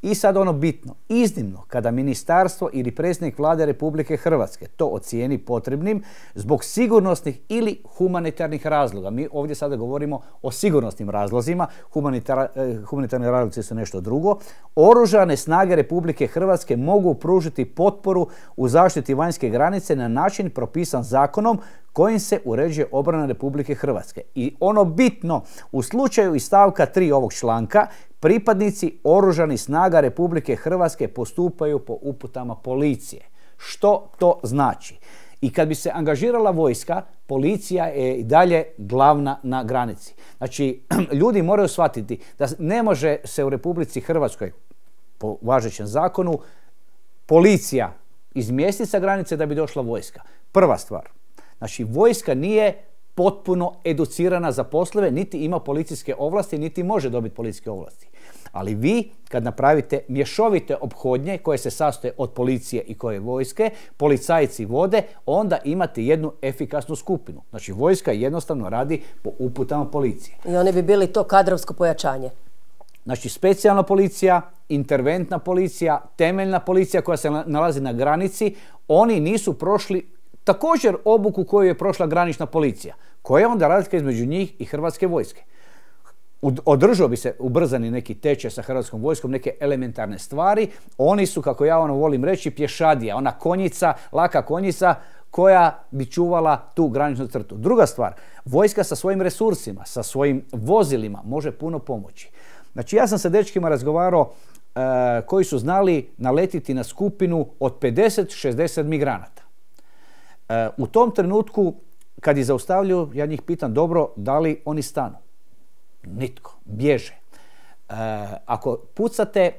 I sad ono bitno, iznimno kada ministarstvo ili predsjednik Vlade Republike Hrvatske to ocijeni potrebnim zbog sigurnosnih ili humanitarnih razloga. Mi ovdje sada govorimo o sigurnosnim razlozima, Humanitar, humanitarni razlozi su nešto drugo. Oružane snage Republike Hrvatske mogu pružiti potporu u zaštiti vanjske granice na način propisan zakonom kojim se uređuje obrana Republike Hrvatske. I ono bitno, u slučaju iz stavka tri ovog članka, pripadnici oružanih snaga Republike Hrvatske postupaju po uputama policije. Što to znači? I kad bi se angažirala vojska, policija je i dalje glavna na granici. Znači, ljudi moraju shvatiti da ne može se u Republici Hrvatskoj, po važećem zakonu, policija izmjestiti sa granice da bi došla vojska. Prva stvar. Znači, vojska nije potpuno educirana za poslove, niti ima policijske ovlasti, niti može dobiti policijske ovlasti. Ali vi, kad napravite mješovite ophodnje koje se sastoje od policije i koje vojske, policajci vode, onda imate jednu efikasnu skupinu. Znači, vojska jednostavno radi po uputama policije. I oni bi bili to kadrovsko pojačanje. Znači, specijalna policija, interventna policija, temeljna policija koja se nalazi na granici, oni nisu prošli također obuku koju je prošla granična policija. Koja je onda razlika između njih i hrvatske vojske? Održao bi se ubrzani neki tečaj sa hrvatskom vojskom, neke elementarne stvari. Oni su, kako ja ono volim reći, pješadija, ona konjica, laka konjica koja bi čuvala tu graničnu crtu. Druga stvar, vojska sa svojim resursima, sa svojim vozilima može puno pomoći. Znači, ja sam sa dečkima razgovarao e, koji su znali naletiti na skupinu od pedeset do šezdeset migranata. E, u tom trenutku, kad ih zaustavljaju, ja njih pitam, dobro, da li oni stanu? Nitko. Bježe. E, ako pucate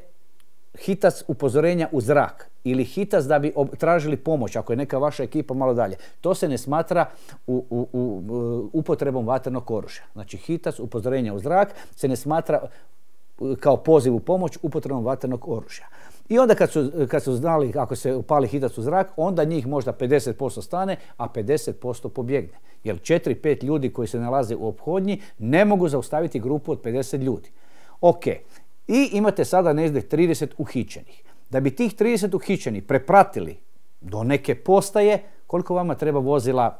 hitac upozorenja u zrak ili hitac da bi tražili pomoć, ako je neka vaša ekipa malo dalje, to se ne smatra u, u, u, upotrebom vatrenog oružja. Znači, hitac upozorenja u zrak se ne smatra kao poziv u pomoć upotrebom vatrenog oružja. I onda kad su, kad su znali kako se upali hitac u zrak, onda njih možda pedeset posto stane, a pedeset posto pobjegne. Jer četiri pet ljudi koji se nalaze u ophodnji ne mogu zaustaviti grupu od pedeset ljudi. Ok. I imate sada negdje trideset uhićenih. Da bi tih trideset uhićenih prepratili do neke postaje, koliko vama treba vozila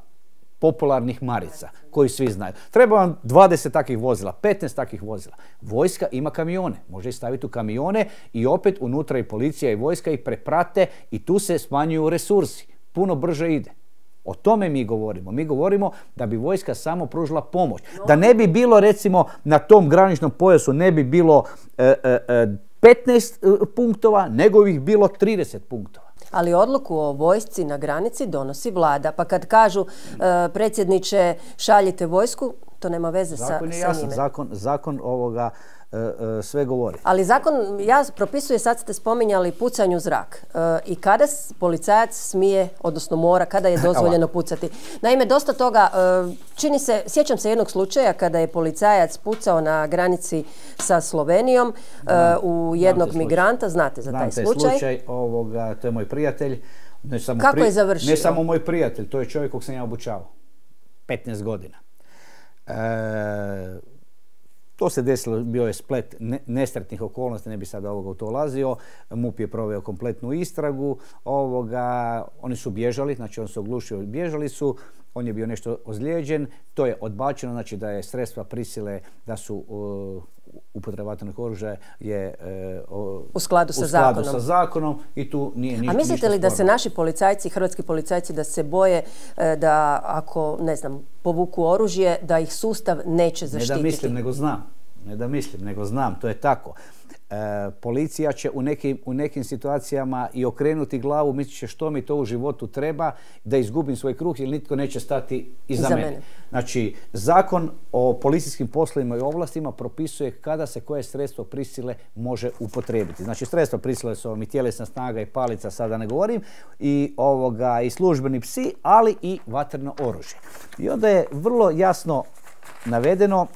popularnih marica, koji svi znaju? Treba vam dvadeset takvih vozila, petnaest takvih vozila. Vojska ima kamione, može ih staviti u kamione i opet unutra i policija i vojska ih preprate i tu se smanjuju resursi. Puno brže ide. O tome mi govorimo. Mi govorimo da bi vojska samo pružila pomoć. Da ne bi bilo, recimo, na tom graničnom pojasu ne bi bilo e, e, petnaest punktova, nego bi ih bilo trideset punktova. Ali odluku o vojsci na granici donosi vlada. Pa kad kažu e, predsjedniče šaljite vojsku, to nema veze sa, zakon je sa jasan, njime. Zakon, zakon ovoga e, e, sve govori. Ali zakon ja propisuje, sad ste spominjali, pucanju u zrak. E, I kada policajac smije, odnosno mora, kada je dozvoljeno pucati. Naime, dosta toga, e, čini se, sjećam se jednog slučaja kada je policajac pucao na granici sa Slovenijom e, u jednog migranta. Znate za Znam taj taj slučaj. slučaj ovoga, to je moj prijatelj. Ne samo Kako pri... je završio? Ne samo moj prijatelj, to je čovjek kog sam ja obučavao. petnaest godina. E, To se desilo, bio je splet nesretnih okolnosti, ne bi sada ovoga u to ulazio. MUP je proveo kompletnu istragu. Ovoga, oni su bježali, znači on se oglušio, bježali su. On je bio nešto ozlijeđen. To je odbačeno, znači da je sredstva prisile, da su uh, upotreba vatrenog oružja je uh, u skladu, sa, u skladu zakonom. sa zakonom i tu nije ništa. A mislite li da se naši policajci, hrvatski policajci, da se boje da ako, ne znam, povuku oružje, da ih sustav neće zaštititi? Ne da mislim, nego znam. Ne da mislim, nego znam. To je tako. E, policija će u nekim, u nekim situacijama i okrenuti glavu, mislit će što mi to u životu treba, da izgubim svoj kruh jer nitko neće stati iza Za mene. mene. Znači, Zakon o policijskim poslovima i ovlastima propisuje kada se koje sredstvo prisile može upotrijebiti. Znači, sredstva prisile su vam i tjelesna snaga i palica, sada ne govorim, i, ovoga, i službeni psi, ali i vatreno oružje. I onda je vrlo jasno navedeno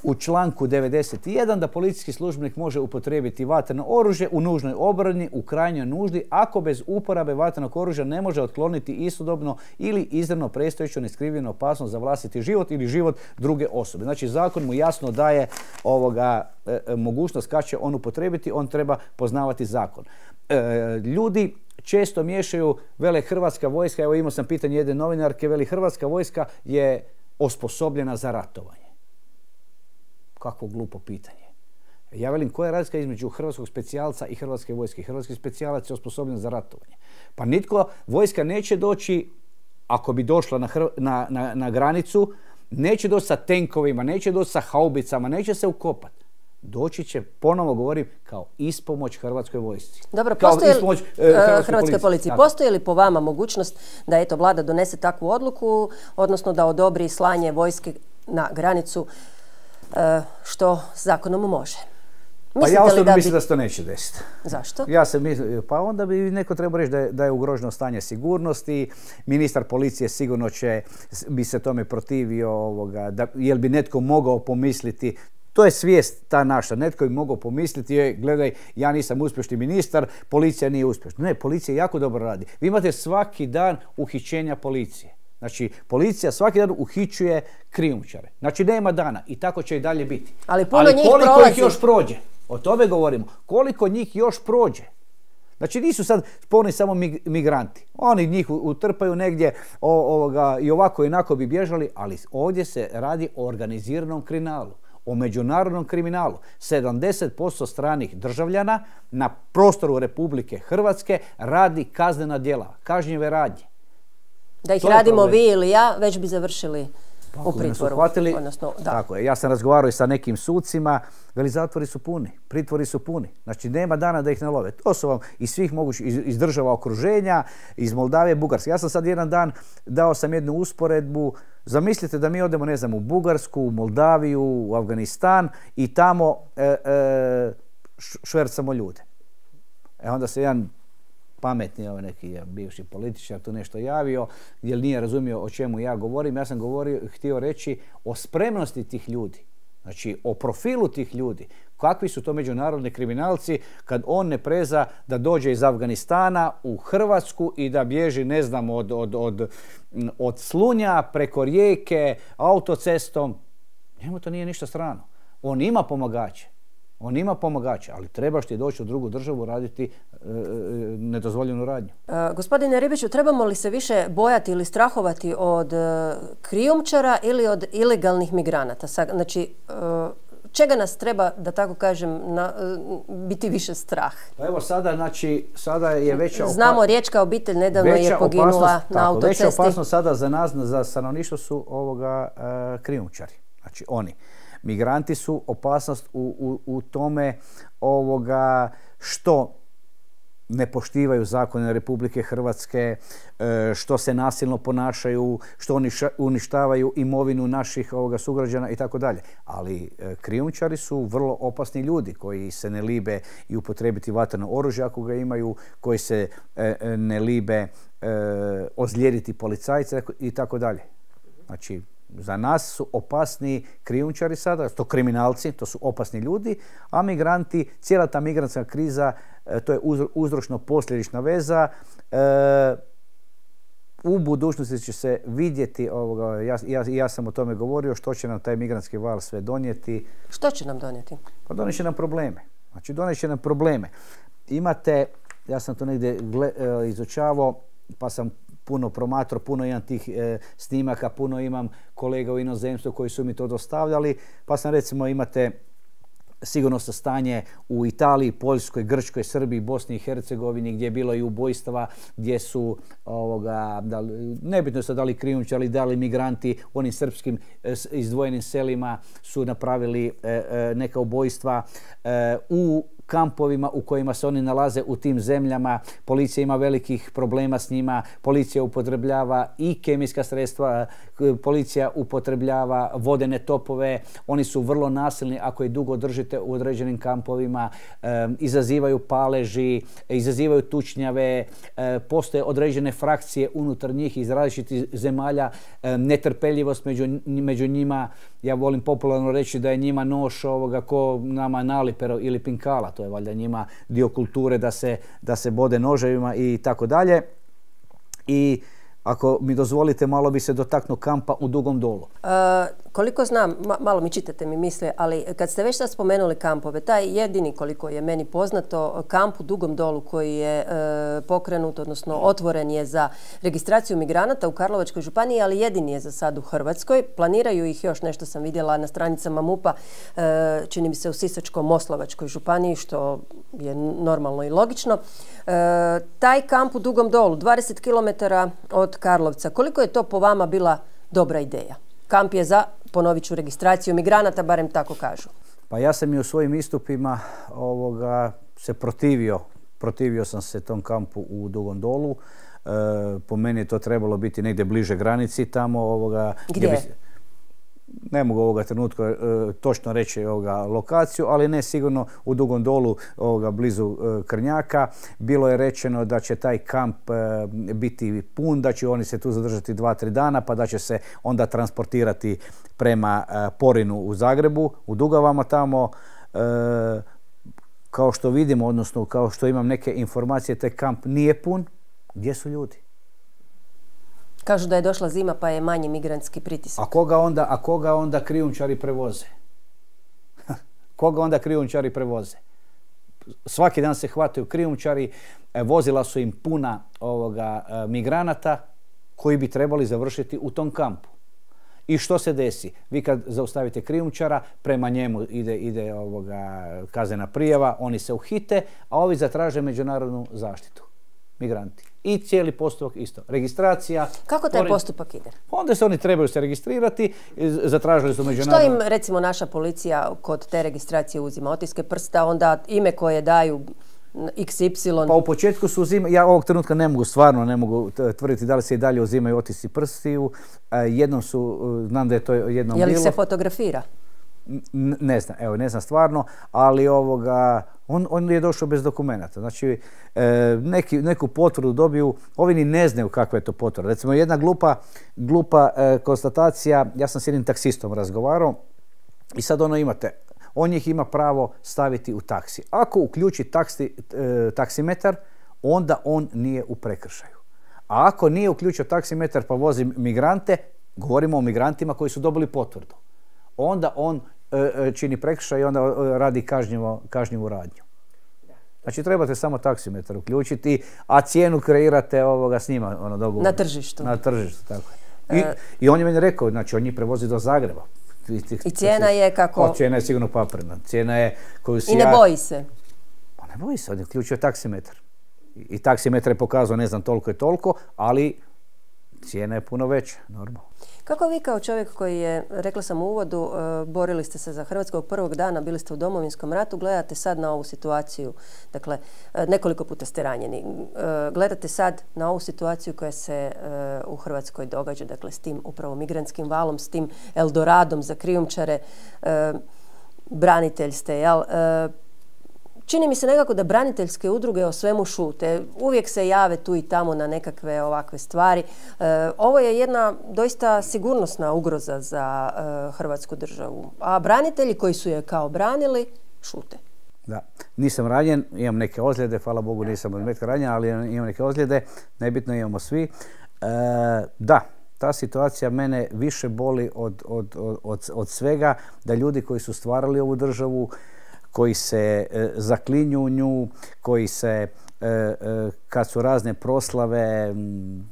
u članku devedeset jedan da policijski službenik može upotrijebiti vatreno oružje u nužnoj obrani, u krajnjoj nuždi, ako bez uporabe vatrenog oružja ne može otkloniti istodobno ili izravno predstojeću neskrivljenu opasnost za vlastiti život ili život druge osobe. Znači, zakon mu jasno daje ovoga, e, mogućnost kad će on upotrijebiti, on treba poznavati zakon. E, ljudi često miješaju, vele Hrvatska vojska, evo imao sam pitanje jedne novinarke, veli Hrvatska vojska je osposobljena za ratovanje. Kakvo glupo pitanje. Ja velim, koja je razlika između hrvatskog specijalca i hrvatske vojske? Hrvatski specijalac je osposobljen za ratovanje. Pa nitko, vojska neće doći, ako bi došla na, na, na, na granicu, neće doći sa tenkovima, neće doći sa haubicama, neće se ukopati. Doći će, ponovo govorim, kao ispomoć hrvatskoj vojsci. Dobro, postoji li uh, hrvatskoj policiji? Postoji li po vama mogućnost da eto vlada donese takvu odluku, odnosno da odobri slanje vojske na granicu, što zakonom može? Mislite pa ja osobno da mislim bi... da se to neće desiti. Zašto? Ja sam mislio, pa onda bi neko trebao reći da je, da je ugroženo stanje sigurnosti. Ministar policije sigurno će bi se tome protivio, ovoga, da, jer bi netko mogao pomisliti. To je svijest ta naša. Netko bi mogao pomisliti, je, gledaj, ja nisam uspješni ministar, policija nije uspješna. Ne, policija jako dobro radi. Vi imate svaki dan uhićenja policije. Znači, policija svaki dan uhićuje krijumčare. Znači, nema dana i tako će i dalje biti. Ali puno Ali njih koliko prolazi. ih još prođe? O tome govorimo. Koliko njih još prođe? Znači, nisu sad spolni samo migranti. Oni njih utrpaju negdje o, ovoga, i ovako i onako bi bježali, ali ovdje se radi o organiziranom kriminalu, o međunarodnom kriminalu. sedamdeset posto stranih državljana na prostoru Republike Hrvatske radi kaznena djela, kažnjive radnje. Da ih radimo vi ili ja, već bi završili pa, u pritvoru. Uhvatili, odnosno, da. Tako je. Ja sam razgovarao i sa nekim sucima, veli zatvori su puni, pritvori su puni. Znači nema dana da ih ne love. To su vam iz svih mogućih, iz, iz država okruženja, iz Moldavije, Bugarske. Ja sam sad jedan dan dao sam jednu usporedbu. Zamislite da mi odemo, ne znam, u Bugarsku, u Moldaviju, u Afganistan i tamo e, e, švercamo ljude. E onda se jedan pametni ovaj neki bivši političar tu nešto javio, jer nije razumio o čemu ja govorim. Ja sam govorio, htio reći o spremnosti tih ljudi, znači o profilu tih ljudi. Kakvi su to međunarodni kriminalci kad on ne preza da dođe iz Afganistana u Hrvatsku i da bježi, ne znam, od, od, od, od Slunja preko rijeke, autocestom. Njemu to nije ništa strano. On ima pomagače. On ima pomagača, ali trebaš ti doći u drugu državu raditi e, nedozvoljenu radnju. E, gospodine Ribiću, trebamo li se više bojati ili strahovati od e, krijumčara ili od ilegalnih migranata? Znači, e, čega nas treba, da tako kažem, na, e, biti više strah? Pa evo sada, znači, sada je veća opasnost. Znamo, riječka obitelj nedavno je poginula na autocesti. Veća opasnost sada za nas, za stanovništvo su ovoga e, krijumčari. Znači, oni. Migranti su opasnost u, u, u tome ovoga što ne poštivaju zakone Republike Hrvatske, što se nasilno ponašaju, što oni uništavaju imovinu naših ovoga sugrađana i tako dalje. Ali krijumčari su vrlo opasni ljudi koji se ne libe i upotrijebiti vatreno oružje ako ga imaju, koji se ne libe ozlijediti policajce i tako dalje. Znači, za nas su opasni krijumčari sada, to kriminalci, to su opasni ljudi, a migranti, cijela ta migrantska kriza, to je uzročno-posljedična veza. E, u budućnosti će se vidjeti, ovoga, ja, ja, ja sam o tome govorio, što će nam taj migrantski val sve donijeti. Što će nam donijeti? Pa donijet će nam probleme. Znači donijet će nam probleme. Imate, ja sam to negdje gle, e, izučavao, pa sam puno promatrao, puno imam tih e, snimaka, puno imam kolega u inozemstvu koji su mi to dostavljali, pa sam recimo imate sigurnosno stanje u Italiji, Poljskoj, Grčkoj, Srbiji, Bosni i Hercegovini, gdje je bilo i ubojstava, gdje su, ovoga, da li, nebitno su da li krijumčari, da li migranti u onim srpskim e, izdvojenim selima su napravili e, e, neka ubojstva. E, u kampovima u kojima se oni nalaze u tim zemljama, policija ima velikih problema s njima, policija upotrebljava i kemijska sredstva, policija upotrebljava vodene topove, oni su vrlo nasilni ako ih dugo držite u određenim kampovima, e, izazivaju paleži, izazivaju tučnjave, e, postoje određene frakcije unutar njih iz različitih zemalja, e, netrpeljivost među, među njima. Ja volim popularno reći da je njima nož ovoga ko nama nalipero ili pinkala, to je valjda njima dio kulture da se, da se bode noževima i tako dalje. I ako mi dozvolite, malo bi se dotaknuo kampa u Dugom Dolu. E, koliko znam, ma, malo mi čitate mi misle, ali kad ste već sad spomenuli kampove, taj jedini, koliko je meni poznato, kamp u Dugom Dolu koji je e, pokrenut, odnosno otvoren je za registraciju migranata u Karlovačkoj županiji, ali jedini je za sad u Hrvatskoj. Planiraju ih još, nešto sam vidjela na stranicama MUP-a, e, čini mi se u Sisačko-moslavačkoj županiji, što je normalno i logično. E, taj kamp u Dugom Dolu, dvadeset kilometara od Karlovca, koliko je to po vama bila dobra ideja? Kamp je za, ponovit ću, registraciju migranata, barem tako kažu. Pa ja sam i u svojim istupima ovoga, se protivio, protivio sam se tom kampu u Dugom Dolu. E, po meni je to trebalo biti negdje bliže granici tamo. Ovoga, gdje? Gdje bi, ne mogu ovoga trenutka e, točno reći ovoga lokaciju, ali ne sigurno u Dugom Dolu ovoga, blizu e, Krnjaka. Bilo je rečeno da će taj kamp e, biti pun, da će oni se tu zadržati dva, tri dana, pa da će se onda transportirati prema e, Porinu u Zagrebu, u Dugavama tamo. E, kao što vidimo, odnosno kao što imam neke informacije, taj kamp nije pun. Gdje su ljudi? Kažu da je došla zima pa je manji migrantski pritisak. A koga onda, a koga onda krijumčari prevoze? Koga onda krijumčari prevoze? Svaki dan se hvataju krijumčari, vozila su im puna ovoga, migranata koji bi trebali završiti u tom kampu. I što se desi? Vi kad zaustavite krijumčara, prema njemu ide, ide ovoga, kaznena prijava, oni se uhite, a ovi zatraže međunarodnu zaštitu. Migranti. I cijeli postupak isto. Registracija. Kako taj postupak ide? Onda se oni trebaju se registrirati, zatražili su međunarodno. Što im recimo naša policija kod te registracije uzima? Otiske prsta, onda ime koje daju iks ipsilon? Pa u početku su uzimali, ja ovog trenutka ne mogu, stvarno ne mogu tvrditi da li se i dalje uzimaju otisci prstiju. Jednom su, znam da je to jednom bilo. Je li se fotografira? Ne znam, evo, ne znam stvarno, ali ovoga, on, on je došao bez dokumenata. Znači, e, neki, neku potvrdu dobiju, ovi ni ne znaju kakva je to potvrda. Recimo, jedna glupa, glupa e, konstatacija, ja sam s jednim taksistom razgovarao i sad ono imate, on ih ima pravo staviti u taksi. Ako uključi taksi, e, taksimetar, onda on nije u prekršaju. A ako nije uključio taksimetar pa vozi migrante, govorimo o migrantima koji su dobili potvrdu, onda on e, čini prekršaj i onda radi kažnjivo, kažnjivu radnju. Znači trebate samo taksimetar uključiti, a cijenu kreirate ovoga s njima. Ono, dogovor. Na tržištu. Na tržištu, tako je. I, e, I on je meni rekao, znači on njih prevozi do Zagreba. I cijena je kako? O, cijena je sigurno paprena. Cijena je koju si I ne ja... boji se? Pa ne boji se, on je uključio taksimetar. I, i taksimetar je pokazao ne znam toliko i toliko, ali cijena je puno veća, normalno. Kako vi kao čovjek koji je, rekla sam u uvodu, borili ste se za Hrvatsku od prvog dana, bili ste u Domovinskom ratu, gledate sad na ovu situaciju, dakle nekoliko puta ste ranjeni, gledate sad na ovu situaciju koja se u Hrvatskoj događa, dakle s tim upravo migrantskim valom, s tim Eldoradom za krijumčare, branitelj ste, jel? Čini mi se nekako da braniteljske udruge o svemu šute. Uvijek se jave tu i tamo na nekakve ovakve stvari. E, ovo je jedna doista sigurnosna ugroza za e, Hrvatsku državu. A branitelji koji su je kao branili, šute. Da, nisam ranjen, imam neke ozljede, hvala Bogu nisam od metka ranjen, ali imam neke ozljede, nebitno imamo svi. da, ta situacija mene više boli od, od, od, od svega, da ljudi koji su stvarali ovu državu, koji se e, zaklinju u nju, koji se, e, e, kad su razne proslave, m,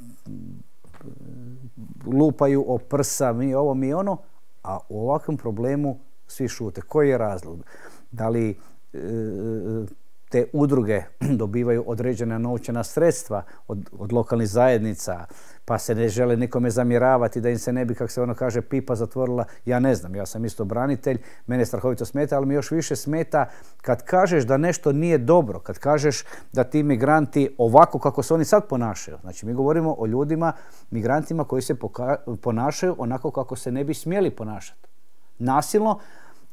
lupaju o prsa, mi ovo, mi ono, a u ovakvom problemu svi šute. Koji je razlog? Da li e, te udruge dobivaju određena novčana sredstva od, od lokalnih zajednica, pa se ne žele nikome zamjeravati da im se ne bi, kako se ono kaže, pipa zatvorila? Ja ne znam, ja sam isto branitelj, mene strahovito smeta, ali mi još više smeta kad kažeš da nešto nije dobro, kad kažeš da ti migranti ovako kako se oni sad ponašaju. Znači, mi govorimo o ljudima, migrantima koji se ponašaju onako kako se ne bi smjeli ponašati. Nasilno.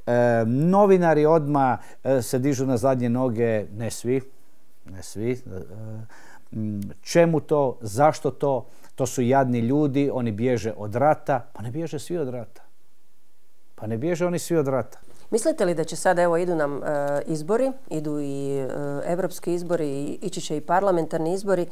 E, novinari odmah e, se dižu na zadnje noge, ne svi, ne svi. E, čemu to, zašto to? To su jadni ljudi, oni bježe od rata. Pa ne bježe svi od rata. Pa ne bježe oni svi od rata. Mislite li da će sada, evo idu nam e, izbori, idu i e, evropski izbori, i, ići će i parlamentarni izbori, e,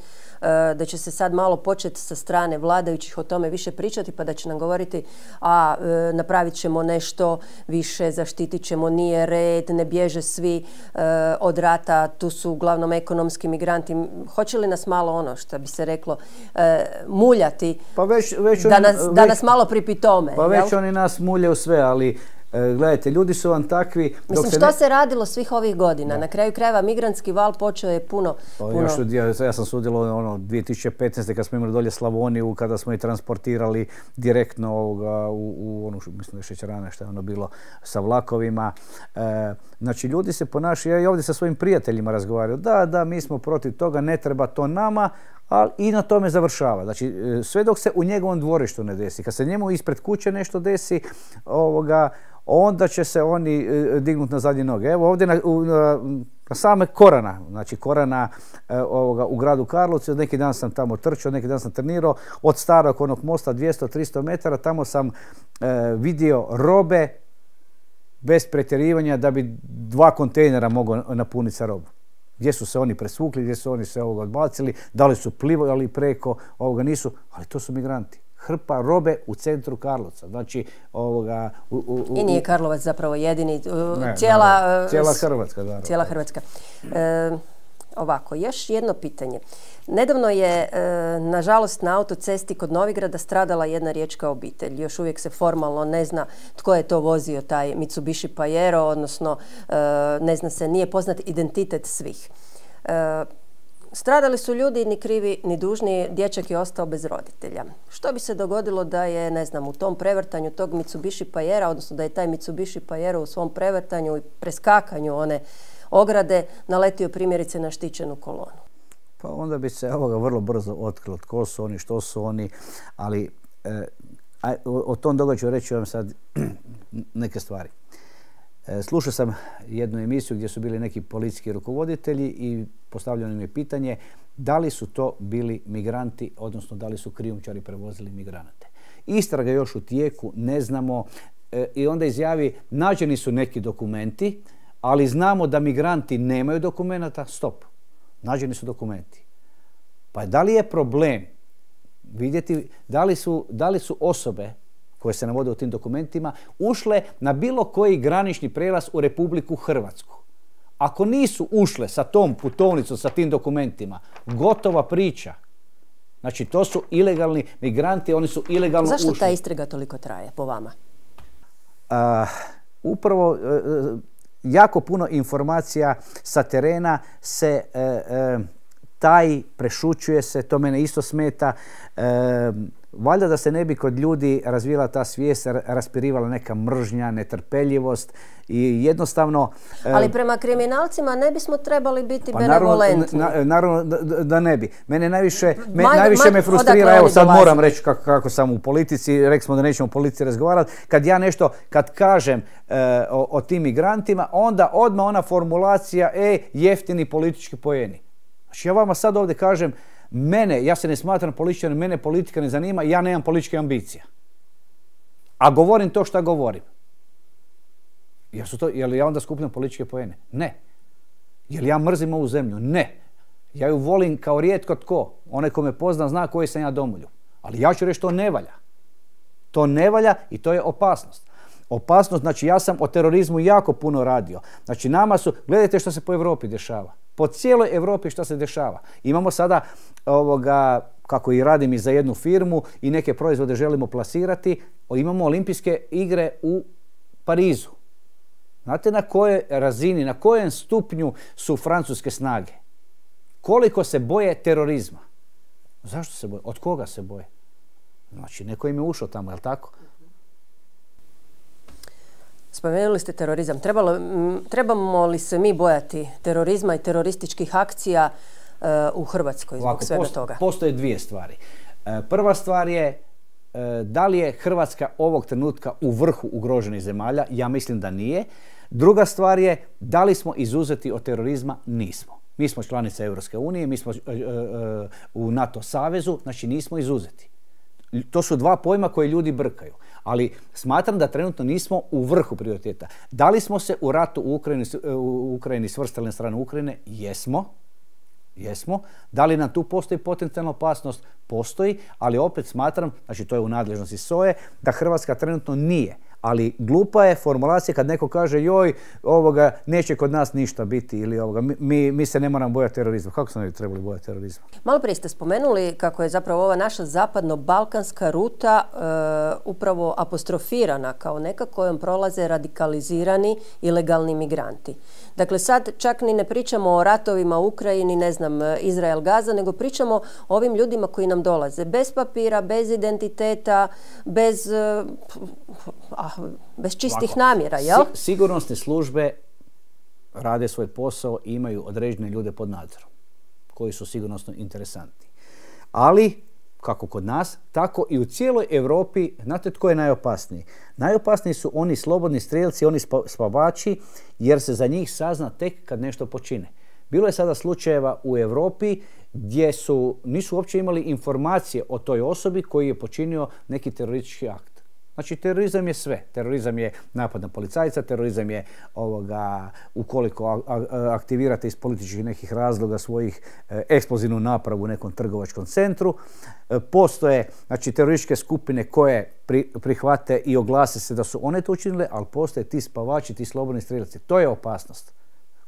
da će se sad malo početi sa strane vladajućih o tome više pričati, pa da će nam govoriti a e, napravit ćemo nešto više, zaštitit ćemo, nije red, ne bježe svi e, od rata, tu su uglavnom ekonomski migranti. Hoće li nas malo ono, što bi se reklo, e, muljati, pa već, već da, oni, nas, već, da nas malo pripitome? Pa već jel? oni nas muljaju sve, ali gledajte, ljudi su vam takvi... Mislim, se što ne... se radilo svih ovih godina? Da. Na kraju krajeva migrantski val počeo je puno... Pa, puno... Još, ja, ja sam sudjelovao ono, dvije tisuće petnaeste. kad smo imali dolje Slavoniju, kada smo i transportirali direktno ovoga, u, u onu, mislim da je šećerana, što je ono bilo, sa vlakovima. E, znači, ljudi se ponašaju, ja i ovdje sa svojim prijateljima razgovaraju, da, da, mi smo protiv toga, ne treba to nama, ali i na tome završava. Znači, sve dok se u njegovom dvorištu ne desi, kad se njemu ispred kuće nešto desi, ovoga, onda će se oni dignuti na zadnje noge. Evo ovdje na, na, na same Korana, znači Korana e, ovoga, u gradu Karlovcu, neki dan sam tamo trčao, neki dan sam trenirao, od starog onog mosta dvjesto do tristo metara, tamo sam e, vidio robe bez pretjerivanja da bi dva kontejnera mogao napuniti sa robom. Gdje su se oni presvukli, gdje su oni se ovoga odbacili, da li su plivali preko, ovoga nisu, ali to su migranti. Hrpa robe u centru Karlovca. Znači, ovoga... U, u, u, I nije Karlovac zapravo jedini. Ne, cijela, naravno, cijela Hrvatska. Naravno. Cijela Hrvatska. E, ovako, još jedno pitanje. Nedavno je, e, nažalost, na autocesti kod Novigrada stradala jedna riječka obitelj. Još uvijek se formalno ne zna tko je to vozio, taj Mitsubishi Pajero, odnosno e, ne zna se, nije poznat identitet svih. E, Stradali su ljudi ni krivi ni dužni, dječak je ostao bez roditelja. Što bi se dogodilo da je, ne znam, u tom prevrtanju tog Mitsubishi Pajera, odnosno da je taj Mitsubishi Pajero u svom prevrtanju i preskakanju one ograde naletio primjerice na štićenu kolonu? Pa onda bi se ovoga vrlo brzo otkrilo tko su oni, što su oni, ali e, a, o, o tom događaju reći vam sad neke stvari. Slušao sam jednu emisiju gdje su bili neki policijski rukovoditelji i postavljeno im je pitanje da li su to bili migranti, odnosno da li su krijumčari prevozili migrante. Istraga je još u tijeku, ne znamo, e, i onda izjavi nađeni su neki dokumenti, ali znamo da migranti nemaju dokumenata, stop, nađeni su dokumenti. Pa da li je problem vidjeti da li su, da li su osobe koje se navode u tim dokumentima, ušle na bilo koji granični prijelaz u Republiku Hrvatsku. Ako nisu ušle sa tom putovnicom, sa tim dokumentima, gotova priča. Znači, to su ilegalni migranti, oni su ilegalno Zašto ušli. Zašto ta istraga toliko traje, po vama? A, upravo, e, jako puno informacija sa terena se e, e, taj, prešućuje se, to mene isto smeta. E, Valjda da se ne bi kod ljudi razvijela ta svijest, raspirivala neka mržnja, netrpeljivost i jednostavno... Ali prema kriminalcima ne bismo trebali biti pa benevolentni. Naravno, naravno da, da ne bi. Mene najviše, me, ma, najviše ma, me frustrira, evo sad moram reći kako, kako sam u politici, rekli smo da nećemo o politici razgovarati, kad ja nešto, kad kažem e, o, o tim migrantima, onda odmah ona formulacija, e, jeftini politički poeni. Znači ja vama sad ovdje kažem, mene, ja se ne smatram političarom, mene politika ne zanima, ja nemam političke ambicije. A govorim to što govorim. Jel su to, jel ja onda skupljam političke poene? Ne. Jel ja mrzim ovu zemlju? Ne. Ja ju volim kao rijetko tko. Onaj ko me pozna zna koji sam ja domoljub. Ali ja ću reći to ne valja. To ne valja i to je opasnost. Opasnost, znači ja sam o terorizmu jako puno radio. Znači nama su, gledajte što se po Europi dešava. Po cijeloj Europi što se dešava. Imamo sada, ovoga, kako i radim i za jednu firmu i neke proizvode želimo plasirati, imamo olimpijske igre u Parizu. Znate na kojoj razini, na kojem stupnju su francuske snage? Koliko se boje terorizma? Zašto se boje? Od koga se boje? Znači, neko im je ušao tamo, je li tako? Spomenuli ste terorizam. Trebalo, trebamo li se mi bojati terorizma i terorističkih akcija uh, u Hrvatskoj zbog Ovako, svega posto, toga? Postoje dvije stvari. E, prva stvar je e, da li je Hrvatska ovog trenutka u vrhu ugroženih zemalja? Ja mislim da nije. Druga stvar je da li smo izuzeti od terorizma? Nismo. Mi smo članica Europske unije, mi smo e, e, u NATO savezu, znači nismo izuzeti. To su dva pojma koje ljudi brkaju. Ali smatram da trenutno nismo u vrhu prioriteta. Da li smo se u ratu u Ukrajini, u Ukrajini svrstali na stranu Ukrajine? Jesmo. Jesmo. Da li nam tu postoji potencijalna opasnost? Postoji, ali opet smatram, znači to je u nadležnosti S O E, da Hrvatska trenutno nije. Ali glupa je formulacija kad neko kaže joj, ovoga, neće kod nas ništa biti ili ovoga, mi, mi se ne moramo bojati terorizma. Kako se ne bi trebali bojati terorizma? Malo prije ste spomenuli kako je zapravo ova naša zapadno-balkanska ruta e, upravo apostrofirana kao neka kojom prolaze radikalizirani ilegalni migranti. Dakle, sad čak ni ne pričamo o ratovima u Ukrajini, ne znam, Izrael-Gaza, nego pričamo o ovim ljudima koji nam dolaze bez papira, bez identiteta, bez... Ah, bez čistih Ovako, namjera, jel? Si, sigurnosne službe rade svoj posao i imaju određene ljude pod nadzorom, koji su sigurnosno interesantni. Ali, kako kod nas, tako i u cijeloj Europi, znate tko je najopasniji? Najopasniji su oni slobodni strijelci, oni spavači, jer se za njih sazna tek kad nešto počine. Bilo je sada slučajeva u Europi gdje su, nisu uopće imali informacije o toj osobi koji je počinio neki teroristički akt. Znači, terorizam je sve. Terorizam je napad na policajca, terorizam je ovoga, ukoliko aktivirate iz političkih nekih razloga svojih e, eksplozivnu napravu u nekom trgovačkom centru. E, postoje, znači, terorističke skupine koje pri, prihvate i oglase se da su one to učinile, ali postoje ti spavači, ti slobodni strijelci. To je opasnost.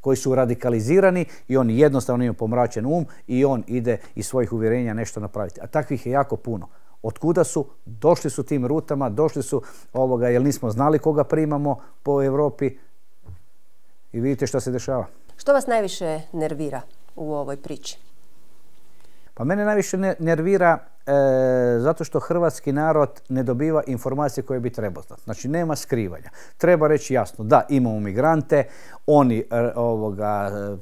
Koji su radikalizirani i oni jednostavno imaju pomračen um i on ide iz svojih uvjerenja nešto napraviti. A takvih je jako puno. Otkuda su? Došli su tim rutama, došli su ovoga, jer nismo znali koga primamo po Europi i vidite što se dešava. Što vas najviše nervira u ovoj priči? Pa mene najviše nervira e, zato što hrvatski narod ne dobiva informacije koje bi trebao znati. Znači nema skrivanja. Treba reći jasno da imamo migrante, oni e, ovoga, e,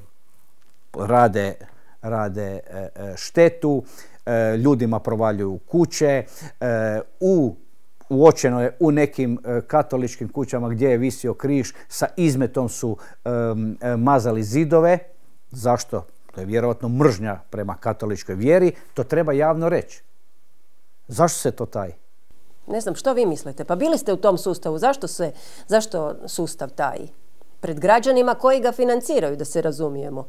rade, rade e, štetu, e, ljudima provaljuju kuće, e, u uočeno je u nekim e, katoličkim kućama gdje je visio križ, sa izmetom su e, e, mazali zidove. Zašto? To je vjerojatno mržnja prema katoličkoj vjeri. To treba javno reći. Zašto se to taji? Ne znam, što vi mislite? Pa bili ste u tom sustavu. Zašto se, zašto sustav taji? Pred građanima koji ga financiraju, da se razumijemo.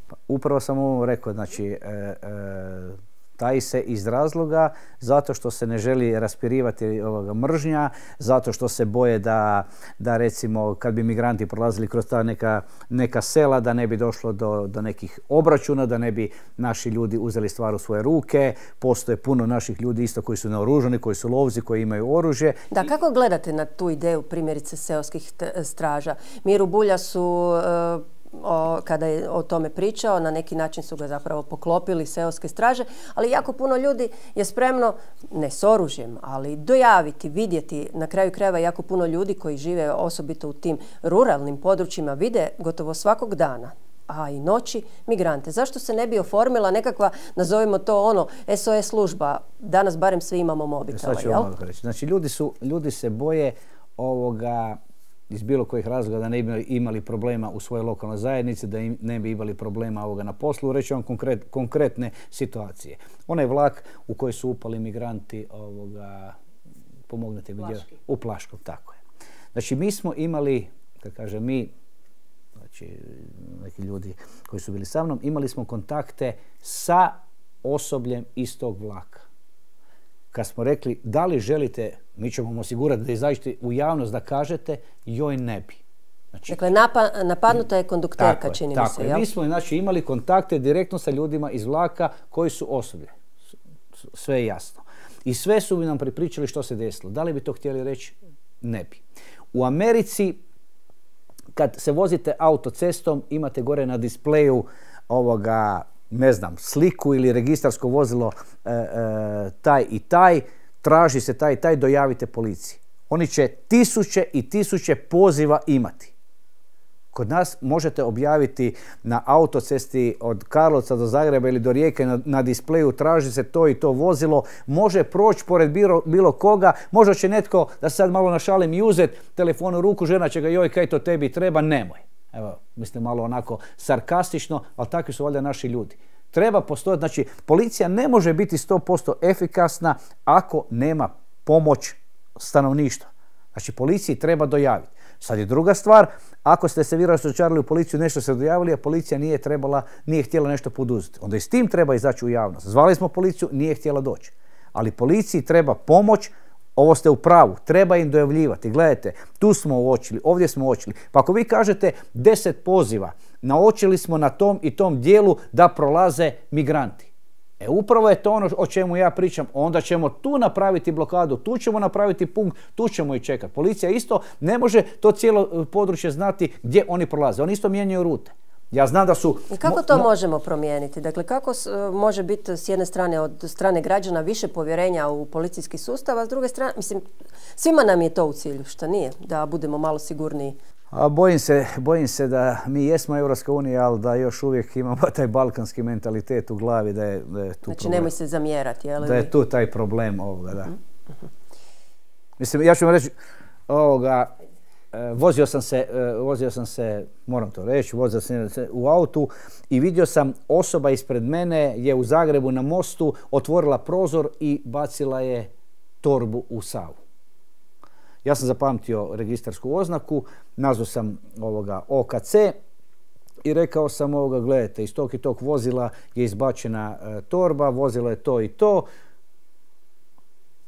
Pa, upravo sam ovo rekao. Znači, e, e, taji se iz razloga zato što se ne želi raspirivati ovoga mržnja, zato što se boje da, da recimo kad bi migranti prolazili kroz ta neka, neka sela da ne bi došlo do, do nekih obračuna, da ne bi naši ljudi uzeli stvar u svoje ruke. Postoje puno naših ljudi isto koji su naoružani, koji su lovci, koji imaju oružje. Da, kako gledate na tu ideju primjerice seoskih straža? Miru Bulja su... Uh, O, kada je o tome pričao, na neki način su ga zapravo poklopili seoske straže, ali jako puno ljudi je spremno, ne s oružjem, ali dojaviti, vidjeti, na kraju krajeva jako puno ljudi koji žive osobito u tim ruralnim područjima vide gotovo svakog dana, a i noći, migrante. Zašto se ne bi oformila nekakva, nazovimo to ono, S O S služba? Danas barem svi imamo mobitela, jel? Znači, ljudi, su, ljudi se boje ovoga iz bilo kojih razloga da ne bi imali problema u svojoj lokalnoj zajednici, da im ne bi imali problema ovoga na poslu. Reći vam konkret, konkretne situacije. Onaj vlak u koji su upali migranti, ovoga, pomognete mi, u Plaškom, tako je. Znači, mi smo imali, kad kažem mi, znači neki ljudi koji su bili sa mnom, imali smo kontakte sa osobljem iz tog vlaka. kad smo rekli da li želite, mi ćemo vam osigurati da izađete u javnost da kažete, joj ne bi. Znači, dakle, napa, napadnuta je kondukterka, tako čini je, mi tako se. Je. Mi smo znači, imali kontakte direktno sa ljudima iz vlaka koji su osoblje. Sve je jasno. I sve su bi nam pripričali što se desilo. Da li bi to htjeli reći? Ne bi. U Americi, kad se vozite autocestom, imate gore na displeju ovoga, ne znam, sliku ili registarsko vozilo e, e, taj i taj, traži se taj i taj, dojavite policiji. Oni će tisuće i tisuće poziva imati. Kod nas možete objaviti na autocesti od Karlovca do Zagreba ili do Rijeke na, na displeju, traži se to i to vozilo, može proći pored bilo, bilo koga, možda će netko, da se sad malo našalim, i uzeti telefon u ruku, žena će ga, joj, kaj to tebi treba, nemoj. Evo, mislim malo onako sarkastično, ali takvi su valjda naši ljudi. Treba postojati, znači policija ne može biti sto posto efikasna ako nema pomoć stanovništva. Znači policiji treba dojaviti. Sad je druga stvar, ako ste se vi razočarali u policiju, nešto se dojavili, a policija nije trebala, nije htjela nešto poduzeti. Onda i s tim treba izaći u javnost. Zvali smo policiju, nije htjela doći. Ali policiji treba pomoć, ovo ste u pravu, treba im dojavljivati. Gledajte, tu smo uočili, ovdje smo uočili. Pa ako vi kažete deset poziva, naočili smo na tom i tom dijelu da prolaze migranti. E upravo je to ono o čemu ja pričam. Onda ćemo tu napraviti blokadu, tu ćemo napraviti punkt, tu ćemo i čekati. Policija isto ne može to cijelo područje znati gdje oni prolaze. Oni isto mijenjaju rute. Ja znam da su... I kako to mo- možemo promijeniti? Dakle, kako s, može biti s jedne strane od strane građana više povjerenja u policijski sustav, a s druge strane, mislim, svima nam je to u cilju, što nije, da budemo malo sigurniji. A bojim se, bojim se da mi jesmo Europska unija, ali da još uvijek imamo taj balkanski mentalitet u glavi, da je, da je tu znači, problem. nemoj se zamjerati, je li? Da je tu taj problem ovoga, da. Uh-huh. Mislim, ja ću vam reći, ovoga, vozio sam se, vozio sam se, moram to reći, vozio sam se u autu i vidio sam osoba ispred mene je u Zagrebu na mostu otvorila prozor i bacila je torbu u Savu. Ja sam zapamtio registarsku oznaku, nazvao sam ovoga O K C i rekao sam ovoga, gledajte, iz tog i tog vozila je izbačena e, torba, vozilo je to i to.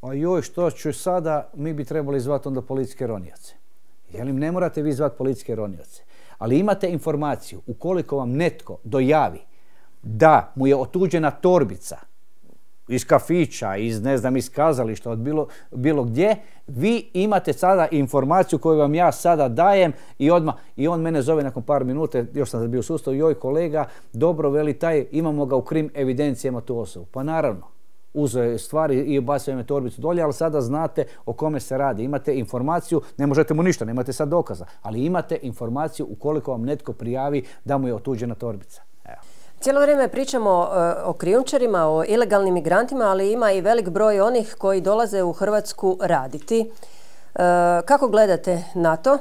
A joj, što ću sada, mi bi trebali zvati onda policijske ronioce. Jelim, ne morate vi zvati policijske ronioce, ali imate informaciju, ukoliko vam netko dojavi da mu je otuđena torbica iz kafića, iz ne znam, iz kazališta, od bilo, bilo gdje, vi imate sada informaciju koju vam ja sada dajem i odmah, i on mene zove nakon par minuta, još sam bio u sustavu, joj kolega, dobro, veli taj, imamo ga u krim evidencijama tu osobu. Pa naravno, uzeo je stvari i bacio me torbicu dolje, ali sada znate o kome se radi. Imate informaciju, ne možete mu ništa, nemate sad dokaza, ali imate informaciju ukoliko vam netko prijavi da mu je otuđena torbica. Evo. Cijelo vrijeme pričamo uh, o krijumčarima, o ilegalnim migrantima, ali ima i velik broj onih koji dolaze u Hrvatsku raditi. Uh, kako gledate na to?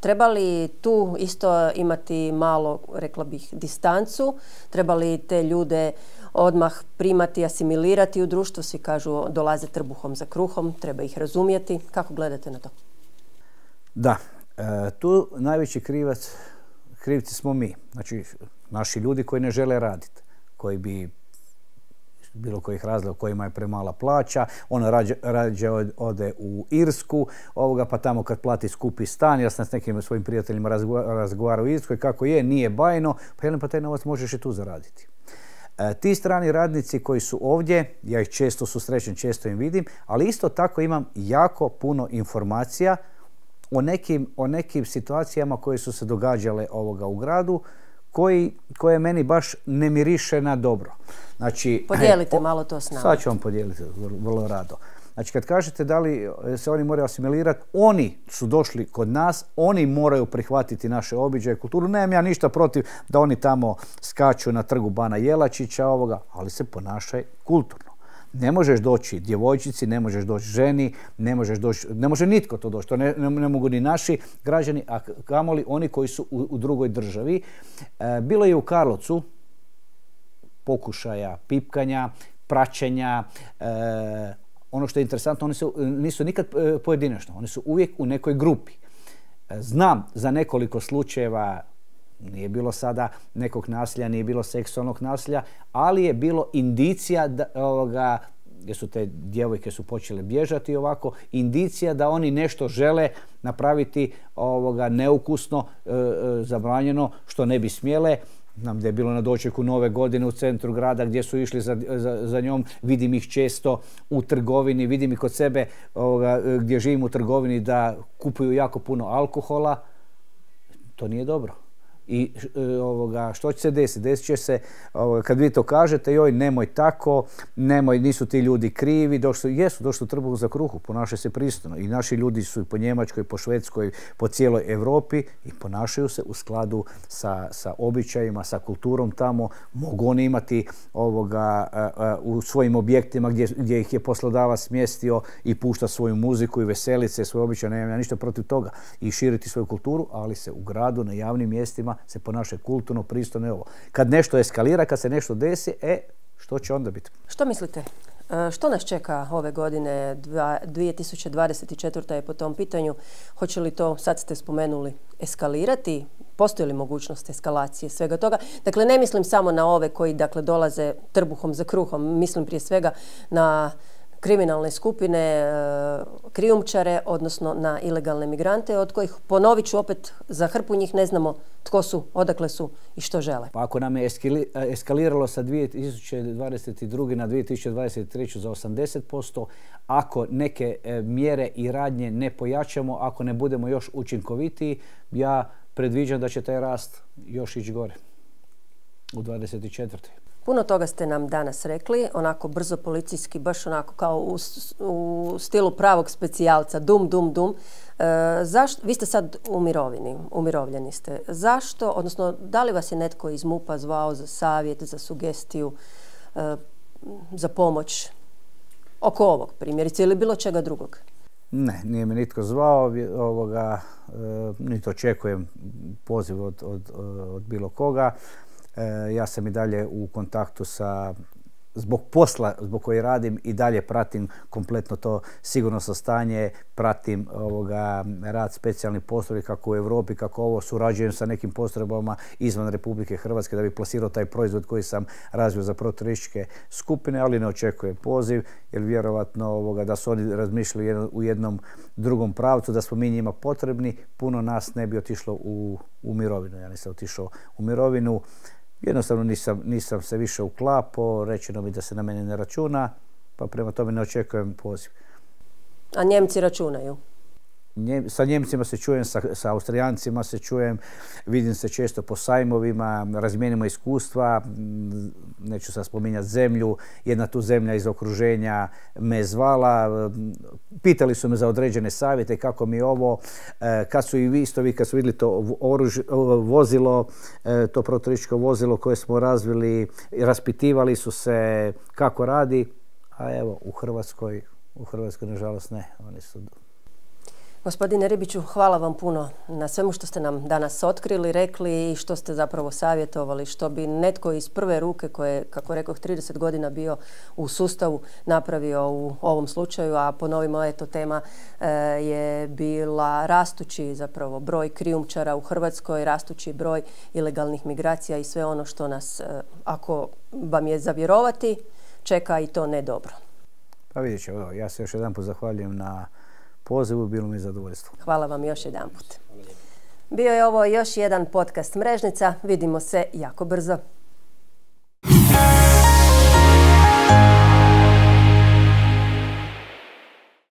Treba li tu isto imati malo, rekla bih, distancu? Treba li te ljude odmah primati, asimilirati u društvo? Svi kažu dolaze trbuhom za kruhom, treba ih razumjeti. Kako gledate na to? Da, e, tu najveći krivac, krivci smo mi. Znači, naši ljudi koji ne žele raditi, koji bi bilo kojih razloga, kojima je premala plaća, ona rađe, rađe ode u Irsku, ovoga, pa tamo kad plati skupi stan, ja sam s nekim svojim prijateljima razgovarao u Irskoj, kako je, nije bajno, pa jedan pa taj novac možeš i tu zaraditi. E, ti strani radnici koji su ovdje, ja ih često susrećem, često im vidim, ali isto tako imam jako puno informacija o nekim, o nekim situacijama koje su se događale ovoga u gradu, koji, koje meni baš ne miriše na dobro. Znači, podijelite o, malo to s nama. Sad ću vam podijeliti vrlo rado. Znači, kad kažete da li se oni moraju asimilirati, oni su došli kod nas, oni moraju prihvatiti naše običaje, kulturu. Nemam ja ništa protiv da oni tamo skaču na trgu Bana Jelačića, ovoga, ali se ponašaj kulturno. Ne možeš doći djevojčici, ne možeš doći ženi, ne možeš doći, ne može nitko to doći. To ne, ne, ne mogu ni naši građani, a kamoli oni koji su u, u drugoj državi. E, bilo je u Karlovcu pokušaja pipkanja, praćenja. E, ono što je interesantno, oni su, nisu nikad pojedinačno, oni su uvijek u nekoj grupi. E, znam za nekoliko slučajeva, nije bilo sada nekog nasilja, nije bilo seksualnog nasilja, ali je bilo indicija da, ovoga, gdje su te djevojke su počele bježati ovako, indicija da oni nešto žele napraviti ovoga neukusno, e, e, zabranjeno, što ne bi smjele. Znam gdje je bilo na dočeku Nove godine u centru grada gdje su išli za, za, za njom, vidim ih često u trgovini, vidim ih kod sebe ovoga, gdje živim u trgovini da kupuju jako puno alkohola. To nije dobro. I ovoga, što će se desiti? Desit će se, ovoga, kad vi to kažete, joj, nemoj tako, nemoj, nisu ti ljudi krivi, došli, jesu, došli u trbuhu za kruhu, ponašaju se pristojno. I naši ljudi su i po Njemačkoj, po Švedskoj, po cijeloj Europi i ponašaju se u skladu sa, sa običajima, sa kulturom tamo. Mogu oni imati ovoga, a, a, u svojim objektima gdje, gdje ih je poslodavac smjestio i pušta svoju muziku i veselice, svoje običaje, nemam ja ništa protiv toga. I širiti svoju kulturu, ali se u gradu, na javnim mjestima se ponaša kulturno, pristojno i ovo. Kad nešto eskalira, kad se nešto desi, e, što će onda biti? Što mislite? Što nas čeka ove godine, dvije tisuće dvadeset četvrta je po tom pitanju? Hoće li to, sad ste spomenuli, eskalirati? Postoji li mogućnost eskalacije svega toga? Dakle, ne mislim samo na ove koji dakle, dolaze trbuhom za kruhom, mislim prije svega na kriminalne skupine, krijumčare, odnosno na ilegalne migrante, od kojih, ponovit ću opet, za hrpu njih ne znamo tko su, odakle su i što žele. Pa ako nam je eskaliralo sa dvije tisuće dvadeset druge na dvije tisuće dvadeset treću za osamdeset posto, ako neke mjere i radnje ne pojačamo, ako ne budemo još učinkovitiji, ja predviđam da će taj rast još ići gore u dvadeset četvrtoj. Puno toga ste nam danas rekli, onako brzo policijski, baš onako kao u, u stilu pravog specijalca, dum, dum, dum. E, zašto, vi ste sad u mirovini, umirovljeni ste. Zašto, odnosno da li vas je netko iz MUP-a zvao za savjet, za sugestiju, e, za pomoć oko ovog primjerice ili bilo čega drugog? Ne, nije me nitko zvao, ovoga, e, niti očekujem poziv od, od, od bilo koga. Ja sam i dalje u kontaktu sa, zbog posla zbog koji radim i dalje pratim kompletno to sigurnosno stanje, pratim ovoga, rad specijalnih postrojbi kako u Europi, kako ovo, surađujem sa nekim postrojbama izvan Republike Hrvatske da bi plasirao taj proizvod koji sam razvio za proterorističke skupine, ali ne očekujem poziv jer vjerovatno ovoga, da su oni razmišljali u jednom drugom pravcu, da smo mi njima potrebni, puno nas ne bi otišlo u, u mirovinu. Ja nisam otišao u mirovinu. Jednostavno nisam, nisam se više uklapao, rečeno mi da se na mene ne računa, pa prema tome ne očekujem poziv. A Njemci računaju? Nje, sa Njemcima se čujem, sa, sa Austrijancima se čujem, vidim se često po sajmovima, razmijenimo iskustva, neću sad spominjati zemlju, jedna tu zemlja iz okruženja me zvala, pitali su me za određene savjete kako mi je ovo, kad su i vi isto vi kad su vidjeli to oruž, vozilo, to proterorističko vozilo koje smo razvili, raspitivali su se kako radi, a evo u Hrvatskoj, u Hrvatskoj nažalost ne, oni su... Gospodine Ribiću, hvala vam puno na svemu što ste nam danas otkrili, rekli i što ste zapravo savjetovali, što bi netko iz prve ruke koje, kako rekoh, trideset godina bio u sustavu napravio u ovom slučaju, a ponovimo, eto, tema e, je bila rastući zapravo broj krijumčara u Hrvatskoj, rastući broj ilegalnih migracija i sve ono što nas, e, ako vam je za vjerovati, čeka i to ne dobro. Pa vidjet ću, ja se još jedan put zahvaljujem na pozivu, bilo mi je zadovoljstvo. Hvala vam još jedan put. Bio je ovo još jedan podcast Mrežnica. Vidimo se jako brzo.